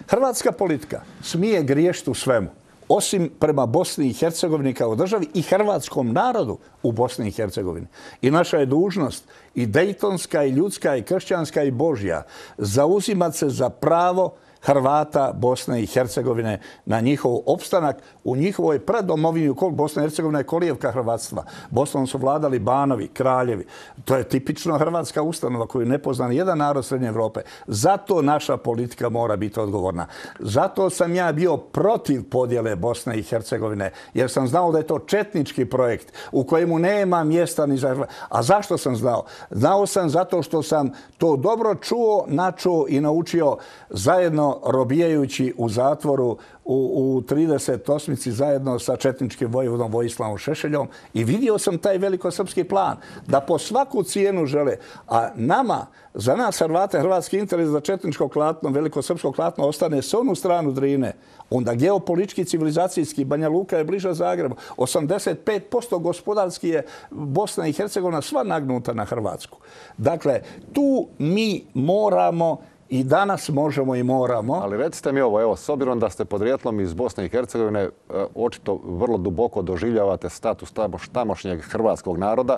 Hrvatska politika smije griješiti u svemu, osim prema Bosni i Hercegovini kao državi i hrvatskom narodu u Bosni i Hercegovini. I naša je dužnost i dejtonska, i ljudska, i kršćanska, i božja zauzimati se za pravo Hrvata Bosne i Hercegovine na njihov opstanak u njihovoj predomovini. Bosna i Hercegovina je kolijevka hrvatstva. Bosnom su vladali banovi, kraljevi. To je tipično hrvatska ustanova koju ne pozna ni jedan narod Srednje Evrope. Zato naša politika mora biti odgovorna. Zato sam ja bio protiv podjele Bosne i Hercegovine, jer sam znao da je to četnički projekt u kojemu nema mjesta ni za... A zašto sam znao? Znao sam zato što sam to dobro čuo, načuo i naučio zajedno robijajući u zatvoru u, u trideset osmici zajedno sa četničkim vojvodom Vojislavom Šešeljom i vidio sam taj velikosrpski plan da po svaku cijenu žele. A nama, za nas Hrvate, hrvatski interes za četničko klatno, velikosrpsko klatno ostane s onu stranu Drine. Onda geopolitički, civilizacijski, Banja Luka je bliža Zagrebu. osamdeset pet posto gospodarski je Bosna i Hercegovina sva nagnuta na Hrvatsku. Dakle, tu mi moramo i danas možemo i moramo. Ali recite mi ovo, evo, s obzirom da ste podrijetlom iz Bosne i Hercegovine, očito vrlo duboko doživljavate status tamošnjeg hrvatskog naroda.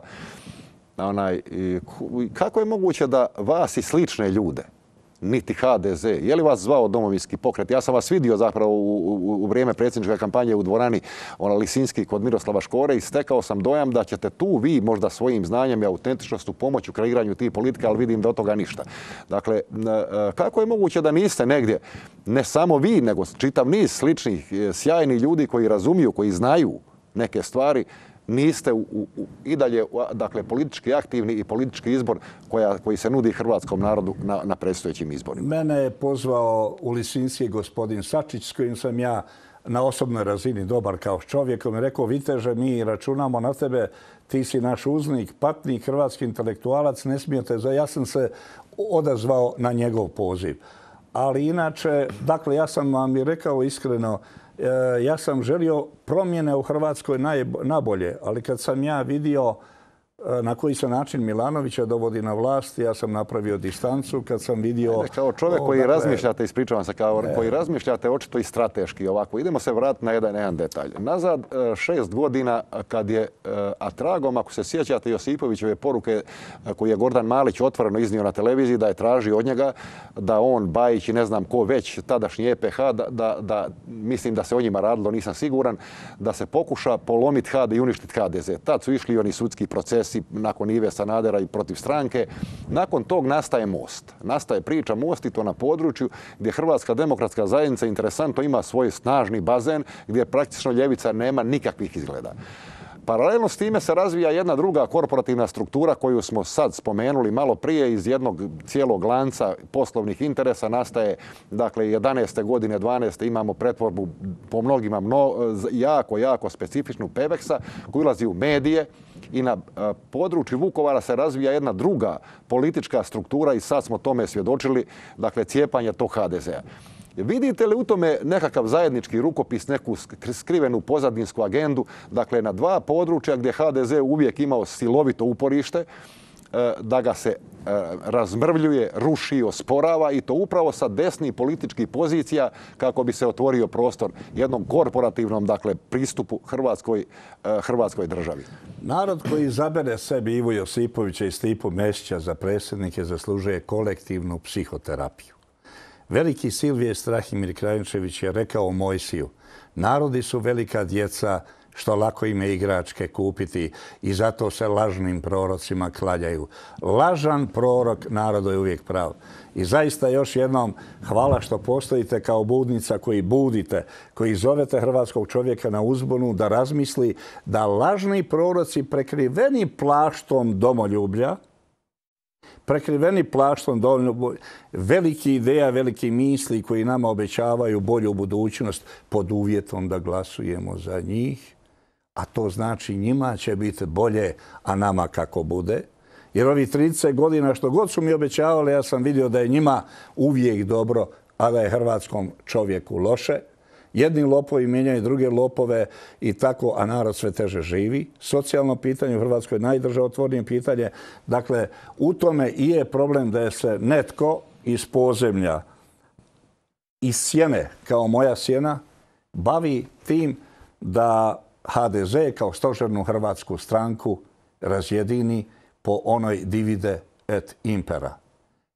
Onaj, kako je moguće da vas i slične ljude, niti ha de ze, je li vas zvao Domovinski pokret? Ja sam vas vidio zapravo u, u, u vrijeme predsjedničke kampanje u dvorani ona Lisinski kod Miroslava Škore i stekao sam dojam da ćete tu vi možda svojim znanjem i autentičnostu pomoći u kreiranju tih politika, ali vidim da od toga ništa. Dakle, kako je moguće da niste negdje, ne samo vi, nego čitav niz sličnih, sjajnih ljudi koji razumiju, koji znaju neke stvari, niste u, u, i dalje dakle, politički aktivni i politički izbor koja, koji se nudi hrvatskom narodu na, na predstojećim izborima? Mene je pozvao u Lisinski gospodin Sačić, s kojim sam ja na osobnoj razini dobar kao čovjek. On mi je rekao, Viteže, mi računamo na tebe, ti si naš uznik, patnik, hrvatski intelektualac, ne smijete za... Ja sam se odazvao na njegov poziv. Ali inače, dakle, ja sam vam i rekao iskreno, ja sam želio promjene u Hrvatskoj nabolje, ali kad sam ja vidio na koji se način Milanovića dovodi na vlast, ja sam napravio distancu kad sam vidio... Ajde, kao čovjek koji dakle, razmišljate, ispričavam se, kao ne. koji razmišljate očito i strateški ovako. Idemo se vratiti na jedan, jedan detalj. Nazad šest godina kad je, a tragom, ako se sjećate Josipovićeve poruke koje je Gordan Malić otvoreno iznio na televiziji, da je tražio od njega da on, Bajić i ne znam ko već, tadašnji e pe ha, da, da, da mislim da se o njima radilo, nisam siguran, da se pokuša polomiti ha de i uništiti ha de ze. Tad su išli oni sudski procesi nakon Ive Sanadera i protiv stranke. Nakon tog nastaje Most. Nastaje priča Most i to na području gdje Hrvatska demokratska zajednica interesantno ima svoj snažni bazen gdje praktično ljevica nema nikakvih izgleda. Paralelno s time se razvija jedna druga korporativna struktura koju smo sad spomenuli malo prije iz jednog cijelog lanca poslovnih interesa. Nastaje, dakle, jedanaeste godine, dvanaeste imamo pretvorbu po mnogima mno, jako, jako specifičnu Peveksa koji ulazi u medije i na području Vukovara se razvija jedna druga politička struktura i sad smo tome svjedočili, dakle, cijepanje tog ha de zea. Vidite li u tome nekakav zajednički rukopis, neku skrivenu pozadinsku agendu, dakle na dva područja gdje ha de ze uvijek imao silovito uporište, da ga se razmrvljuje, ruši, osporava i to upravo sa desnih političkih pozicija kako bi se otvorio prostor jednom korporativnom, dakle, pristupu Hrvatskoj, Hrvatskoj državi. Narod koji izabere sebi Ivu Josipovića i Stipu Mesića za predsjednike zaslužuje kolektivnu psihoterapiju. Veliki Silvije Strahimir Krajinčević je rekao Mojsiju: narodi su velika djeca, što lako im je igračke kupiti i zato se lažnim prorocima klanjaju. Lažan prorok narodu je uvijek prav. I zaista još jednom hvala što postojite kao budnica koji budite, koji zovete hrvatskog čovjeka na uzbunu da razmisli da lažni proroci prekriveni plaštom domoljublja, prekriveni plaštom domoljublja, veliki ideja, veliki misli koji nama obećavaju bolju budućnost pod uvjetom da glasujemo za njih, a to znači njima će biti bolje, a nama kako bude. Jer ovih trideset godina što god su mi obećavali, ja sam vidio da je njima uvijek dobro, a da je hrvatskom čovjeku loše. Jedni lopovi mijenjaju druge lopove i tako, a narod sve teže živi. Socijalno pitanje u Hrvatskoj je najdržavotvornije pitanje. Dakle, u tome i je problem da je se netko iz podzemlja, iz sjene, kao moja sjena, bavi tim da ha de ze kao stožernu hrvatsku stranku razjedini po onoj divide et impera.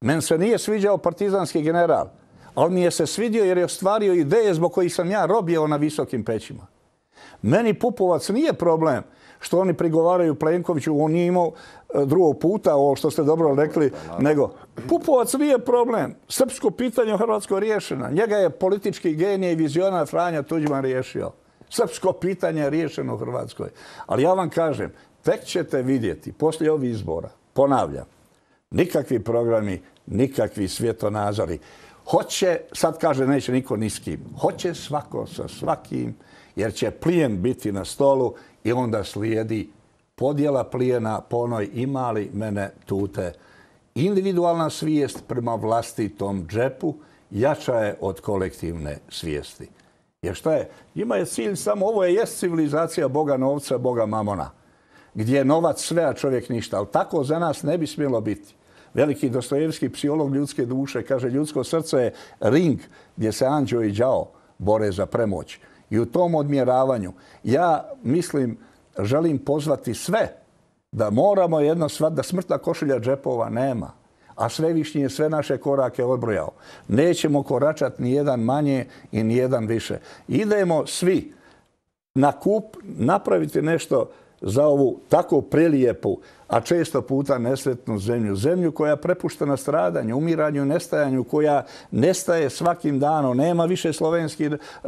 Men se nije sviđao partizanski general, ali mi je se svidio jer je ostvario ideje zbog kojih sam ja robio na visokim pećima. Meni Pupovac nije problem što oni prigovaraju Plenkoviću, on nije imao drugog puta, ovo što ste dobro rekli, nego Pupovac nije problem. Srpsko pitanje u Hrvatskoj riješeno. Njega je politički genije i vizionar Franja Tuđman riješio. Srpsko pitanje je riješeno u Hrvatskoj. Ali ja vam kažem, tek ćete vidjeti poslije ovih izbora, ponavljam, nikakvi programi, nikakvi svjetonazori. Hoće, sad kaže neće niko ni s kim, hoće svako sa svakim, jer će plijen biti na stolu i onda slijedi podjela plijena po onoj ima li mene tute. Individualna svijest prema vlastitom džepu jača je od kolektivne svijesti. Jer šta je? Njima je cilj samo, ovo je jest civilizacija Boga novca, Boga mamona, gdje je novac sve, a čovjek ništa. Ali tako za nas ne bi smjelo biti. Veliki Dostojevski psiholog ljudske duše kaže ljudsko srce je ring gdje se anđeo i đavo bore za premoć. I u tom odmjeravanju ja mislim, želim pozvati sve da moramo jedno shvatiti da smrtna košulja džepova nema. A Svevišnji je sve naše korake odbrojao. Nećemo koračati ni jedan manje i ni jedan više. Idemo svi na kup napraviti nešto za ovu tako prelijepu, a često puta nesretnu zemlju. Zemlju koja je prepuštena stradanju, umiranju, nestajanju, koja nestaje svakim danom. Nema više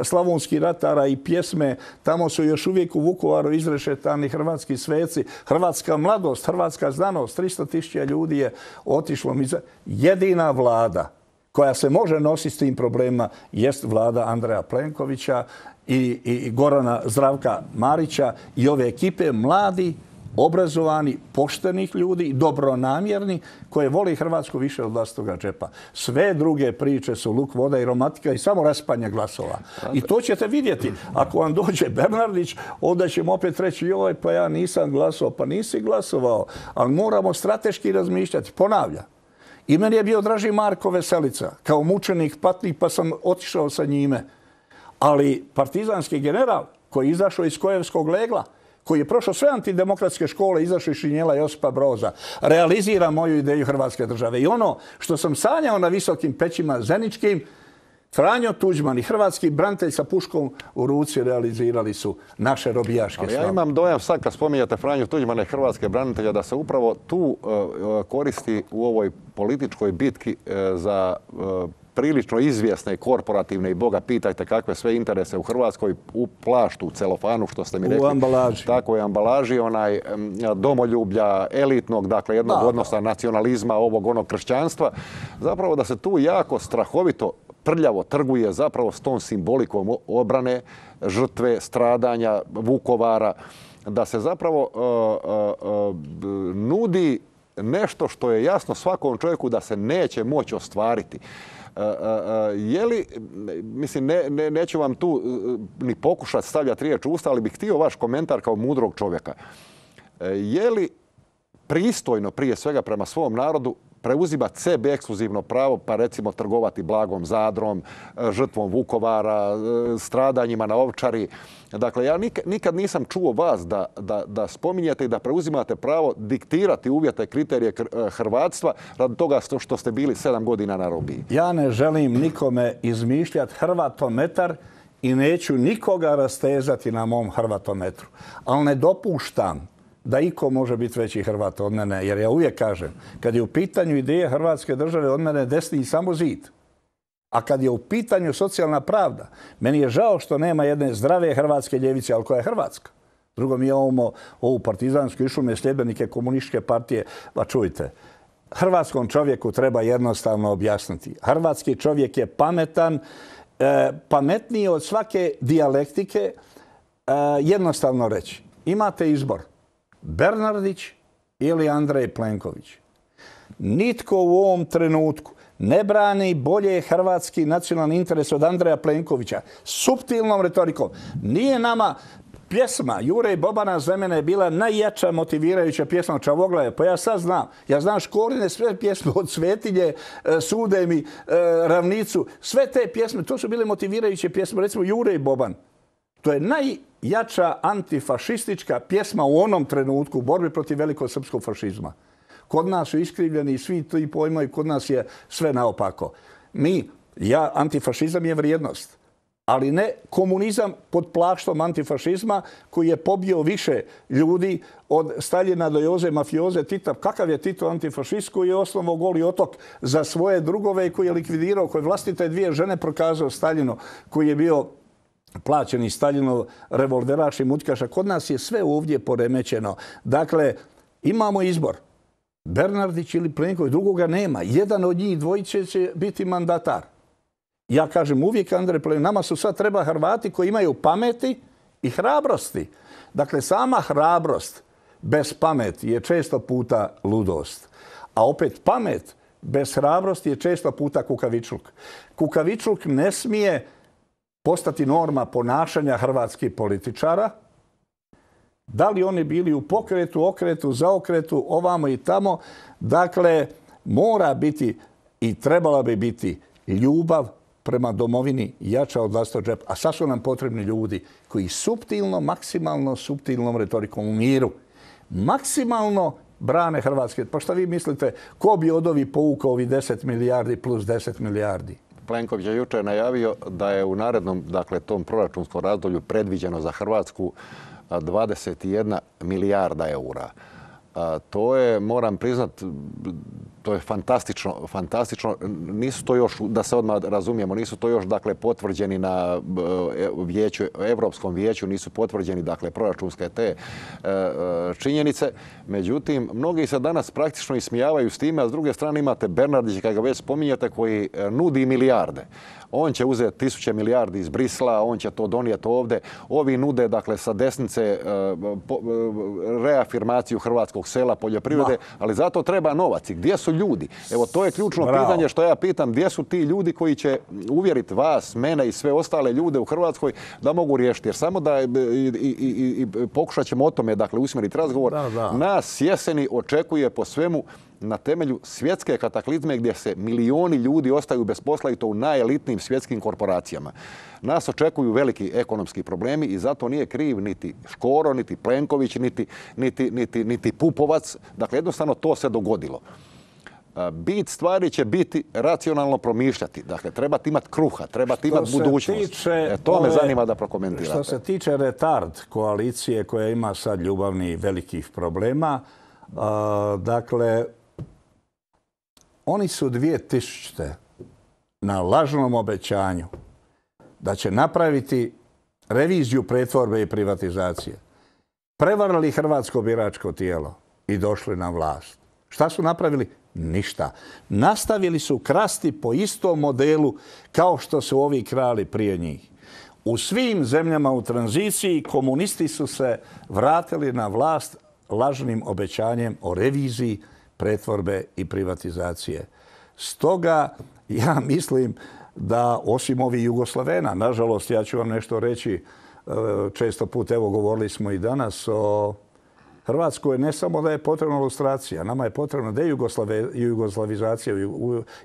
slavonskih ratara i pjesme. Tamo su još uvijek u Vukovaru izrešetani hrvatski sveci. Hrvatska mladost, hrvatska znanost, tristo tisuća ljudi je otišlo. Jedina vlada koja se može nositi s tim problemima jest vlada Andreja Plenkovića i, i Gorana Zdravka Marića i ove ekipe mladi, obrazovani, poštenih ljudi, dobronamjerni, koje voli Hrvatsku više od vlastitoga džepa. Sve druge priče su luk, voda i romantika i samo raspanje glasova. I to ćete vidjeti. Ako vam dođe Bernardić, onda ćemo opet reći joj, pa ja nisam glasovao. Pa nisi glasovao, ali moramo strateški razmišljati. Ponavljam. I meni je bio draži Marko Veselica, kao mučenik, patnik, pa sam otišao sa njime. Ali partizanski general koji je izašao iz Kojevskog legla, koji je prošao sve antidemokratske škole, izašao iz šinjela Josipa Broza, realizira moju ideju Hrvatske države. I ono što sam sanjao na visokim pećima zeničkim, Franjo Tuđman i hrvatski branitelj sa puškom u ruci realizirali su naše robijaške snage. slave. Ja imam dojam sad kad spominjate Franju Tuđmana i hrvatske branitelja da se upravo tu uh, koristi u ovoj političkoj bitki uh, za uh, prilično izvjesne korporativne i Boga pitajte kakve sve interese u Hrvatskoj u plaštu, u celofanu, što ste mi rekli. U ambalaži. Tako je, ambalaži, onaj domoljublja, elitnog, dakle jednog da, odnosa da. nacionalizma, ovog onog kršćanstva. Zapravo da se tu jako strahovito prljavo trguje zapravo s tom simbolikom obrane, žrtve, stradanja, Vukovara, da se zapravo uh, uh, uh, nudi nešto što je jasno svakom čovjeku da se neće moći ostvariti. Uh, uh, je li, mislim, ne, ne, neću vam tu uh, ni pokušati stavljati riječ u usta, ali bih htio vaš komentar kao mudrog čovjeka. Uh, je li pristojno prije svega prema svom narodu preuzimati sebi ekskluzivno pravo, pa recimo trgovati blagom Zadrom, žrtvom Vukovara, stradanjima na Ovčari. Dakle, ja nikad nisam čuo vas da, da, da spominjete i da preuzimate pravo diktirati uvjete, kriterije hrvatstva radi toga što ste bili sedam godina na robiji. Ja ne želim nikome izmišljati hrvatometar i neću nikoga rastezati na mom hrvatometru. Ali ne dopuštam da iko može biti veći Hrvat od mene, jer ja uvijek kažem, kad je u pitanju ideje Hrvatske države, od mene desni samo zid. A kad je u pitanju socijalna pravda, meni je žao što nema jedne zdrave hrvatske ljevice, ali koja je hrvatska. Drugo, mi imamo ovu partizansku išume sljedbenike komunističke partije. Pa čujte, hrvatskom čovjeku treba jednostavno objasniti. Hrvatski čovjek je pametan, e, pametniji od svake dijalektike, e, jednostavno reći. Imate izbor. Bernardić ili Andrej Plenković. Nitko u ovom trenutku ne brani bolje hrvatski nacionalni interes od Andreja Plenkovića. Suptilnom retorikom. Nije nama pjesma Jure i Bobana za mene je bila najjača motivirajuća pjesma Čavoglaje. Pa ja sad znam. Ja znam Škorine sve pjesme od Svetinje, Sude mi, Ravnicu. Sve te pjesme, to su bile motivirajuće pjesme. Recimo Jure i Boban. To je najjača antifašistička pjesma u onom trenutku u borbi protiv velikog srpskog fašizma. Kod nas su iskrivljeni svi ti pojmovi, kod nas je sve naopako. Mi, ja, antifašizam je vrijednost, ali ne komunizam pod plaštom antifašizma koji je pobio više ljudi od Staljina do Joze mafioze Tita. Kakav je Tito antifašist koji je osnovao Goli otok za svoje drugove i koji je likvidirao, koji je vlastite dvije žene prokazao Staljinu, koji je bio plaćeni Staljinov revolveraš i mutkaša. Kod nas je sve ovdje poremećeno. Dakle, imamo izbor. Bernardić ili Plenković, drugoga nema. Jedan od njih dvojice će biti mandatar. Ja kažem uvijek Andrej Plenković, nama su sad treba Hrvati koji imaju pameti i hrabrosti. Dakle, sama hrabrost bez pameti je često puta ludost. A opet pamet bez hrabrosti je često puta kukavičluk. Kukavičluk ne smije postati norma ponašanja hrvatskih političara. Da li oni bili u pokretu, okretu, zaokretu, ovamo i tamo. Dakle, mora biti i trebala bi biti ljubav prema domovini jača od vlastitog džepa. A sad su nam potrebni ljudi koji suptilno, maksimalno suptilnom retorikom u miru, maksimalno brane Hrvatske. Pa šta vi mislite, ko bi od ovih povukao ovih deset milijardi plus deset milijardi? Plenković je jučer najavio da je u narednom, dakle, tom proračunskom razdoblju predviđeno za Hrvatsku dvadeset jedna milijarda eura. To je, moram priznat, to je fantastično, fantastično. Nisu to još, da se odmah razumijemo, nisu to još, dakle, potvrđeni na vijeću, Europskom vijeću, nisu potvrđeni, dakle, proračunske te činjenice. Međutim, mnogi se danas praktično ismijavaju s time, a s druge strane imate Bernardića, kada ga već spominjate, koji nudi milijarde. On će uzeti tisuće milijardi iz Brisla, on će to donijeti ovdje. Ovi nude, dakle, sa desnice reafirmaciju hrvatskog sela, poljoprivrede, ali zato treba novac. I gdje su ljudi? Evo, to je ključno pitanje što ja pitam. Gdje su ti ljudi koji će uvjeriti vas, mene i sve ostale ljude u Hrvatskoj da mogu riješiti? Jer samo da i, i, i, i pokušat ćemo o tome, dakle, usmjeriti razgovor. Da, da. Nas jeseni očekuje po svemu na temelju svjetske kataklizme gdje se milioni ljudi ostaju bez posla i to u najelitnijim svjetskim korporacijama. Nas očekuju veliki ekonomski problemi i zato nije kriv niti Škoro, niti Plenković, niti, niti, niti, niti Pupovac. Dakle, jednostavno to se dogodilo. Bit stvari će biti racionalno promišljati. Dakle, trebate imati kruha, trebate imati budućnost. Tiče, e, to ove, me zanima da prokomentirate. Što se tiče retard koalicije koja ima sad ljubavni velikih problema, uh, dakle, oni su dvije tisućite na lažnom obećanju da će napraviti reviziju pretvorbe i privatizacije. Prevarili hrvatsko biračko tijelo i došli na vlast. Šta su napravili? Ništa. Nastavili su krasti po istom modelu kao što su ovi krali prije njih. U svim zemljama u tranziciji komunisti su se vratili na vlast lažnim obećanjem o reviziji pretvorbe i privatizacije. Stoga ja mislim da osim ovih Jugoslavena, nažalost, ja ću vam nešto reći, često put, evo govorili smo i danas o Hrvatskoj ne samo da je potrebna lustracija, nama je potrebna dejugoslavizacija.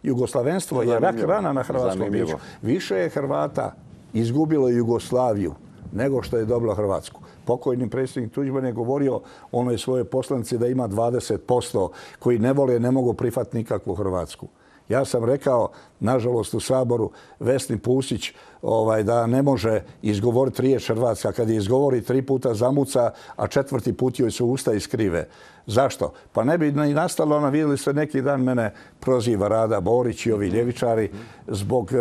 Jugoslavenstvo je rak rana na hrvatskom biću. Više je Hrvata izgubilo Jugoslaviju nego što je dobilo Hrvatsku. Pokojni predsjednik Tuđman je govorio onoj svojoj poslanici da ima dvadeset posto koji ne vole, ne mogu prihvatiti nikakvu Hrvatsku. Ja sam rekao, nažalost, u Saboru Vesni Pusić ovaj, da ne može izgovoriti riječ Hrvatska. Kad je izgovori tri puta zamuca, a četvrti put joj su usta iskrive. Zašto? Pa ne bi ni nastalo, ona vidjeli ste neki dan mene proziva Rada Borić i ovi ljevičari zbog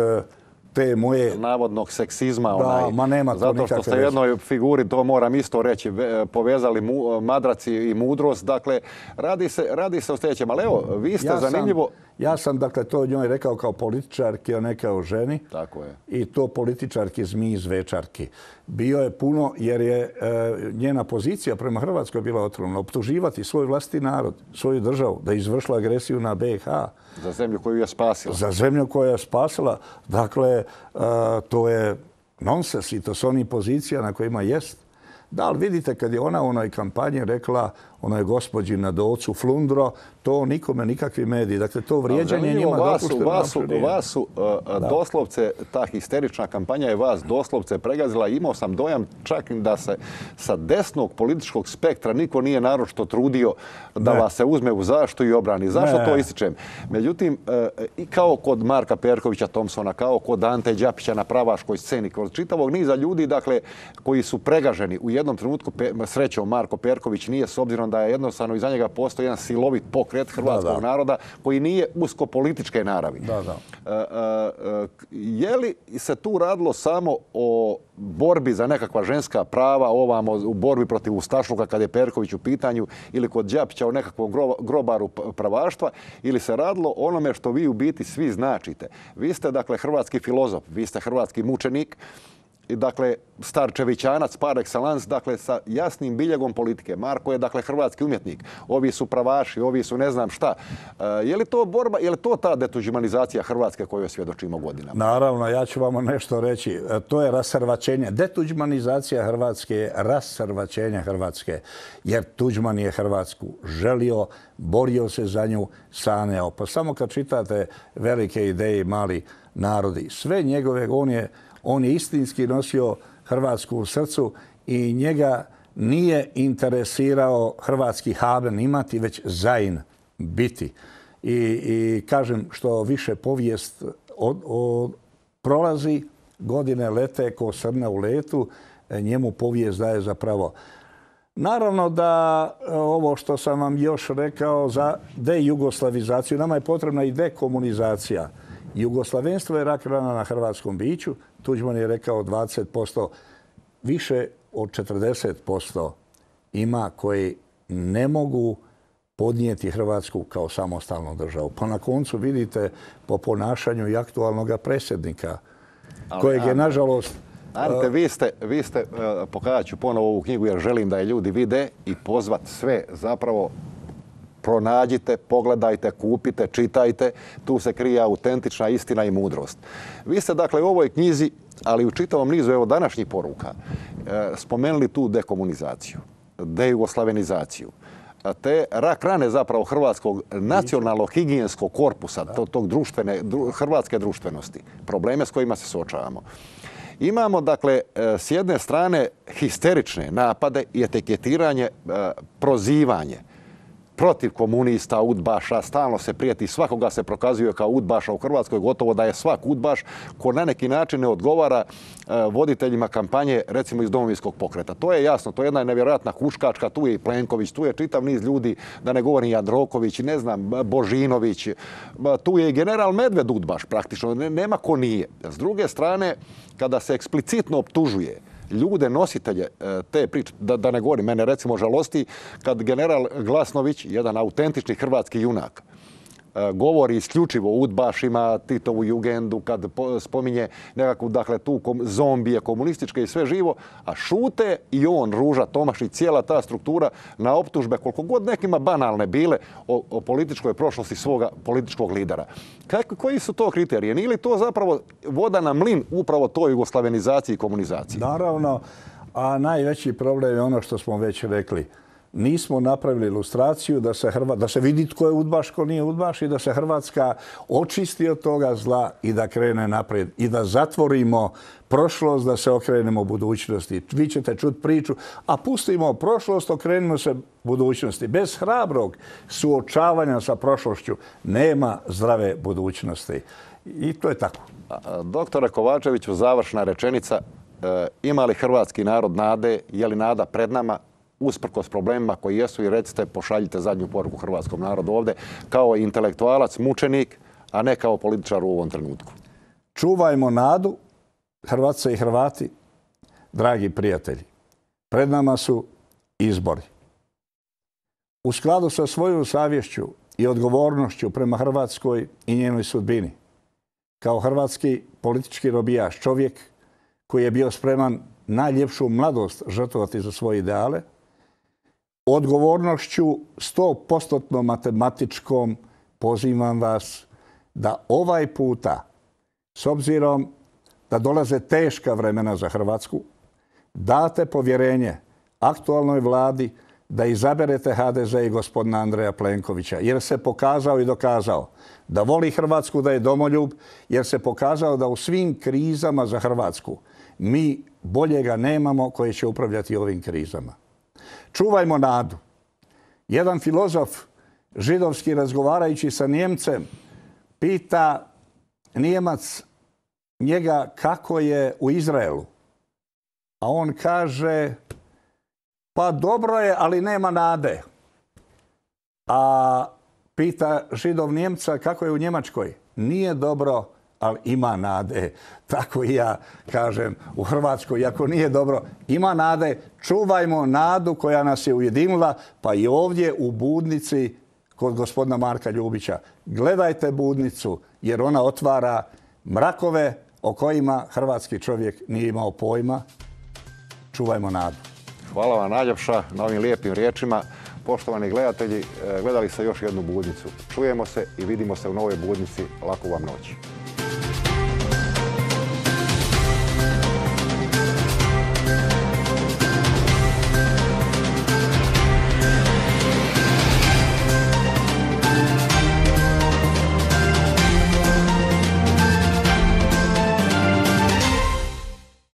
te moje... navodnog seksizma. Da, onaj, ma nema to zato što ste u jednoj figuri, to moram isto reći, povezali mu, madraci i mudrost. Dakle, radi se, radi se o sljedećem. Ali evo, vi ste ja zanimljivo... Sam, ja sam, dakle, to njoj rekao kao političarki, a ne kao ženi. Tako je. I to političarki zmiji zvečarki. Bio je puno, jer je e, njena pozicija prema Hrvatskoj bila otrovna. Optuživati svoj vlastiti narod, svoju državu, da je izvršila agresiju na B i H. Za zemlju koju je spasila. Za zemlju koju je spasila. Dakle, e, to je nonsens i to su oni pozicija na kojima jest. Da, ali vidite, kad je ona u onoj kampanji rekla onoj gospođi na Dolcu Flundro, to nikome, nikakvi mediji. Dakle, to vrijeđanje njima dopušteno. Vas su, vas su uh, doslovce, ta histerična kampanja je vas doslovce pregazila. Imao sam dojam čak da se sa desnog političkog spektra niko nije naročito trudio da ne. vas se uzme u zaštitu i obrani. Zašto ne. to ističem? Međutim, uh, i kao kod Marka Perkovića Thompsona, kao kod Ante Đapića na pravaškoj sceni, kod čitavog niza ljudi, dakle, koji su pregaženi u jednom trenutku, srećom Marko Perković nije, s obzirom da je jednostavno iza njega postoji jedan silovit pokret hrvatskog da, da. naroda koji nije usko političke naravi. Da, da. E, e, je li se tu radilo samo o borbi za nekakva ženska prava, ovamo u borbi protiv ustašluka kad je Perković u pitanju, ili kod Đapića o nekakvom grobaru pravaštva, ili se radilo onome što vi u biti svi značite? Vi ste, dakle, hrvatski filozof, vi ste hrvatski mučenik, i dakle, starčevićanac par excellence, dakle, sa jasnim biljegom politike. Marko je, dakle, hrvatski umjetnik. Ovi su pravaši, ovi su ne znam šta. E, je li to borba, je li to ta detuđmanizacija Hrvatske koju svjedočimo godinama? Naravno, ja ću vam nešto reći. To je rasrvačenje. Detuđmanizacija Hrvatske je rasrvačenje Hrvatske. Jer Tuđman je Hrvatsku želio, borio se za nju, sanjao. Pa samo kad čitate velike ideje i mali narodi, sve njegove, on je On je istinski nosio Hrvatsku u srcu i njega nije interesirao hrvatski haben imati, već zain biti. I, i kažem, što više povijest od, od, prolazi, godine lete ko srne u letu, njemu povijest daje za pravo. Naravno da ovo što sam vam još rekao za dejugoslavizaciju, nama je potrebna i dekomunizacija. Jugoslavenstvo je rak rana na hrvatskom biću. Tuđman je rekao dvadeset posto, više od četrdeset posto ima koji ne mogu podnijeti Hrvatsku kao samostalnu državu. Pa na koncu vidite po ponašanju i aktualnog predsjednika, kojeg je, nažalost... Ante, vi ste, vi ste pokazat ću ponovo ovu knjigu jer želim da je ljudi vide i pozvat sve zapravo. Pronađite, pogledajte, kupite, čitajte. Tu se krije autentična istina i mudrost. Vi ste, dakle, u ovoj knjizi, ali u čitavom nizu evo današnjih poruka, spomenuli tu dekomunizaciju, dejugoslavenizaciju, te rak rane zapravo hrvatskog nacionalnog higijenskog korpusa, tog društvene, hrvatske društvenosti, probleme s kojima se suočavamo. Imamo, dakle, s jedne strane histerične napade i etiketiranje, prozivanje protiv komunista, udbaša, stalno se prijeti, svakoga se prokazuje kao udbaša u Hrvatskoj, gotovo da je svak udbaš ko na neki način ne odgovara voditeljima kampanje, recimo iz Domovinskog pokreta. To je jasno, to je jedna nevjerojatna huškačka, tu je i Plenković, tu je čitav niz ljudi, da ne govorim Jandroković, ne znam, Božinović, tu je i general Medved udbaš praktično, nema ko nije. S druge strane, kada se eksplicitno optužuje ljude, nositelje te priče, da, da ne govorim, mene recimo žalosti kad general Glasnović, jedan autentični hrvatski junak, govori isključivo o udbašima, Titovu jugendu, kad spominje nekakvu, dakle, tu zombije komunističke i sve živo, a šute i on, Ruža Tomašić, cijela ta struktura na optužbe, koliko god nekima banalne bile, o, o političkoj prošlosti svoga političkog lidera. Kako, koji su to kriterije? Nije li to zapravo voda na mlin upravo toj jugoslavenizaciji i komunizaciji? Naravno, a najveći problem je ono što smo već rekli. nismo napravili ilustraciju da se, Hrva, da se vidi tko je udbaš, tko nije udbaš i da se Hrvatska očisti od toga zla i da krene naprijed i da zatvorimo prošlost, da se okrenemo budućnosti. Vi ćete čuti priču, a pustimo prošlost, okrenimo se budućnosti. Bez hrabrog suočavanja sa prošlošću nema zdrave budućnosti. I to je tako. Doktore Kovačeviću, završna rečenica. E, ima li hrvatski narod nade? Je li nada pred nama? Usprkos problemima koji jesu, i recite, pošaljite zadnju poruku hrvatskom narodu ovdje kao intelektualac, mučenik, a ne kao političar u ovom trenutku. Čuvajmo nadu, Hrvatice i Hrvati, dragi prijatelji. Pred nama su izbori. U skladu sa svojom savješću i odgovornošću prema Hrvatskoj i njenoj sudbini, kao hrvatski politički robijaš, čovjek koji je bio spreman najljepšu mladost žrtvovati za svoje ideale, odgovornošću sto posto matematičkom pozivam vas da ovaj puta, s obzirom da dolaze teška vremena za Hrvatsku, date povjerenje aktualnoj vladi da izaberete H D Z i gospodina Andreja Plenkovića, jer se pokazao i dokazao da voli Hrvatsku, da je domoljub, jer se pokazao da u svim krizama za Hrvatsku mi boljega nemamo koji će upravljati ovim krizama. Čuvajmo nadu. Jedan filozof židovski, razgovarajući sa Njemcem, pita Nijemac njega kako je u Izraelu. A on kaže, pa dobro je, ali nema nade. A pita Židov Njemca kako je u Njemačkoj. Nije dobro, ali ima nade. Tako i ja kažem u Hrvatskoj, ako nije dobro, ima nade. Čuvajmo nadu koja nas je ujedinila, pa i ovdje u Budnici kod gospodina Marka Ljubića. Gledajte Budnicu, jer ona otvara mrakove o kojima hrvatski čovjek nije imao pojma. Čuvajmo nadu. Hvala vam najljepša na ovim lijepim riječima. Poštovani gledatelji, gledali ste još jednu Budnicu. Čujemo se i vidimo se u novoj Budnici. Laku vam noć.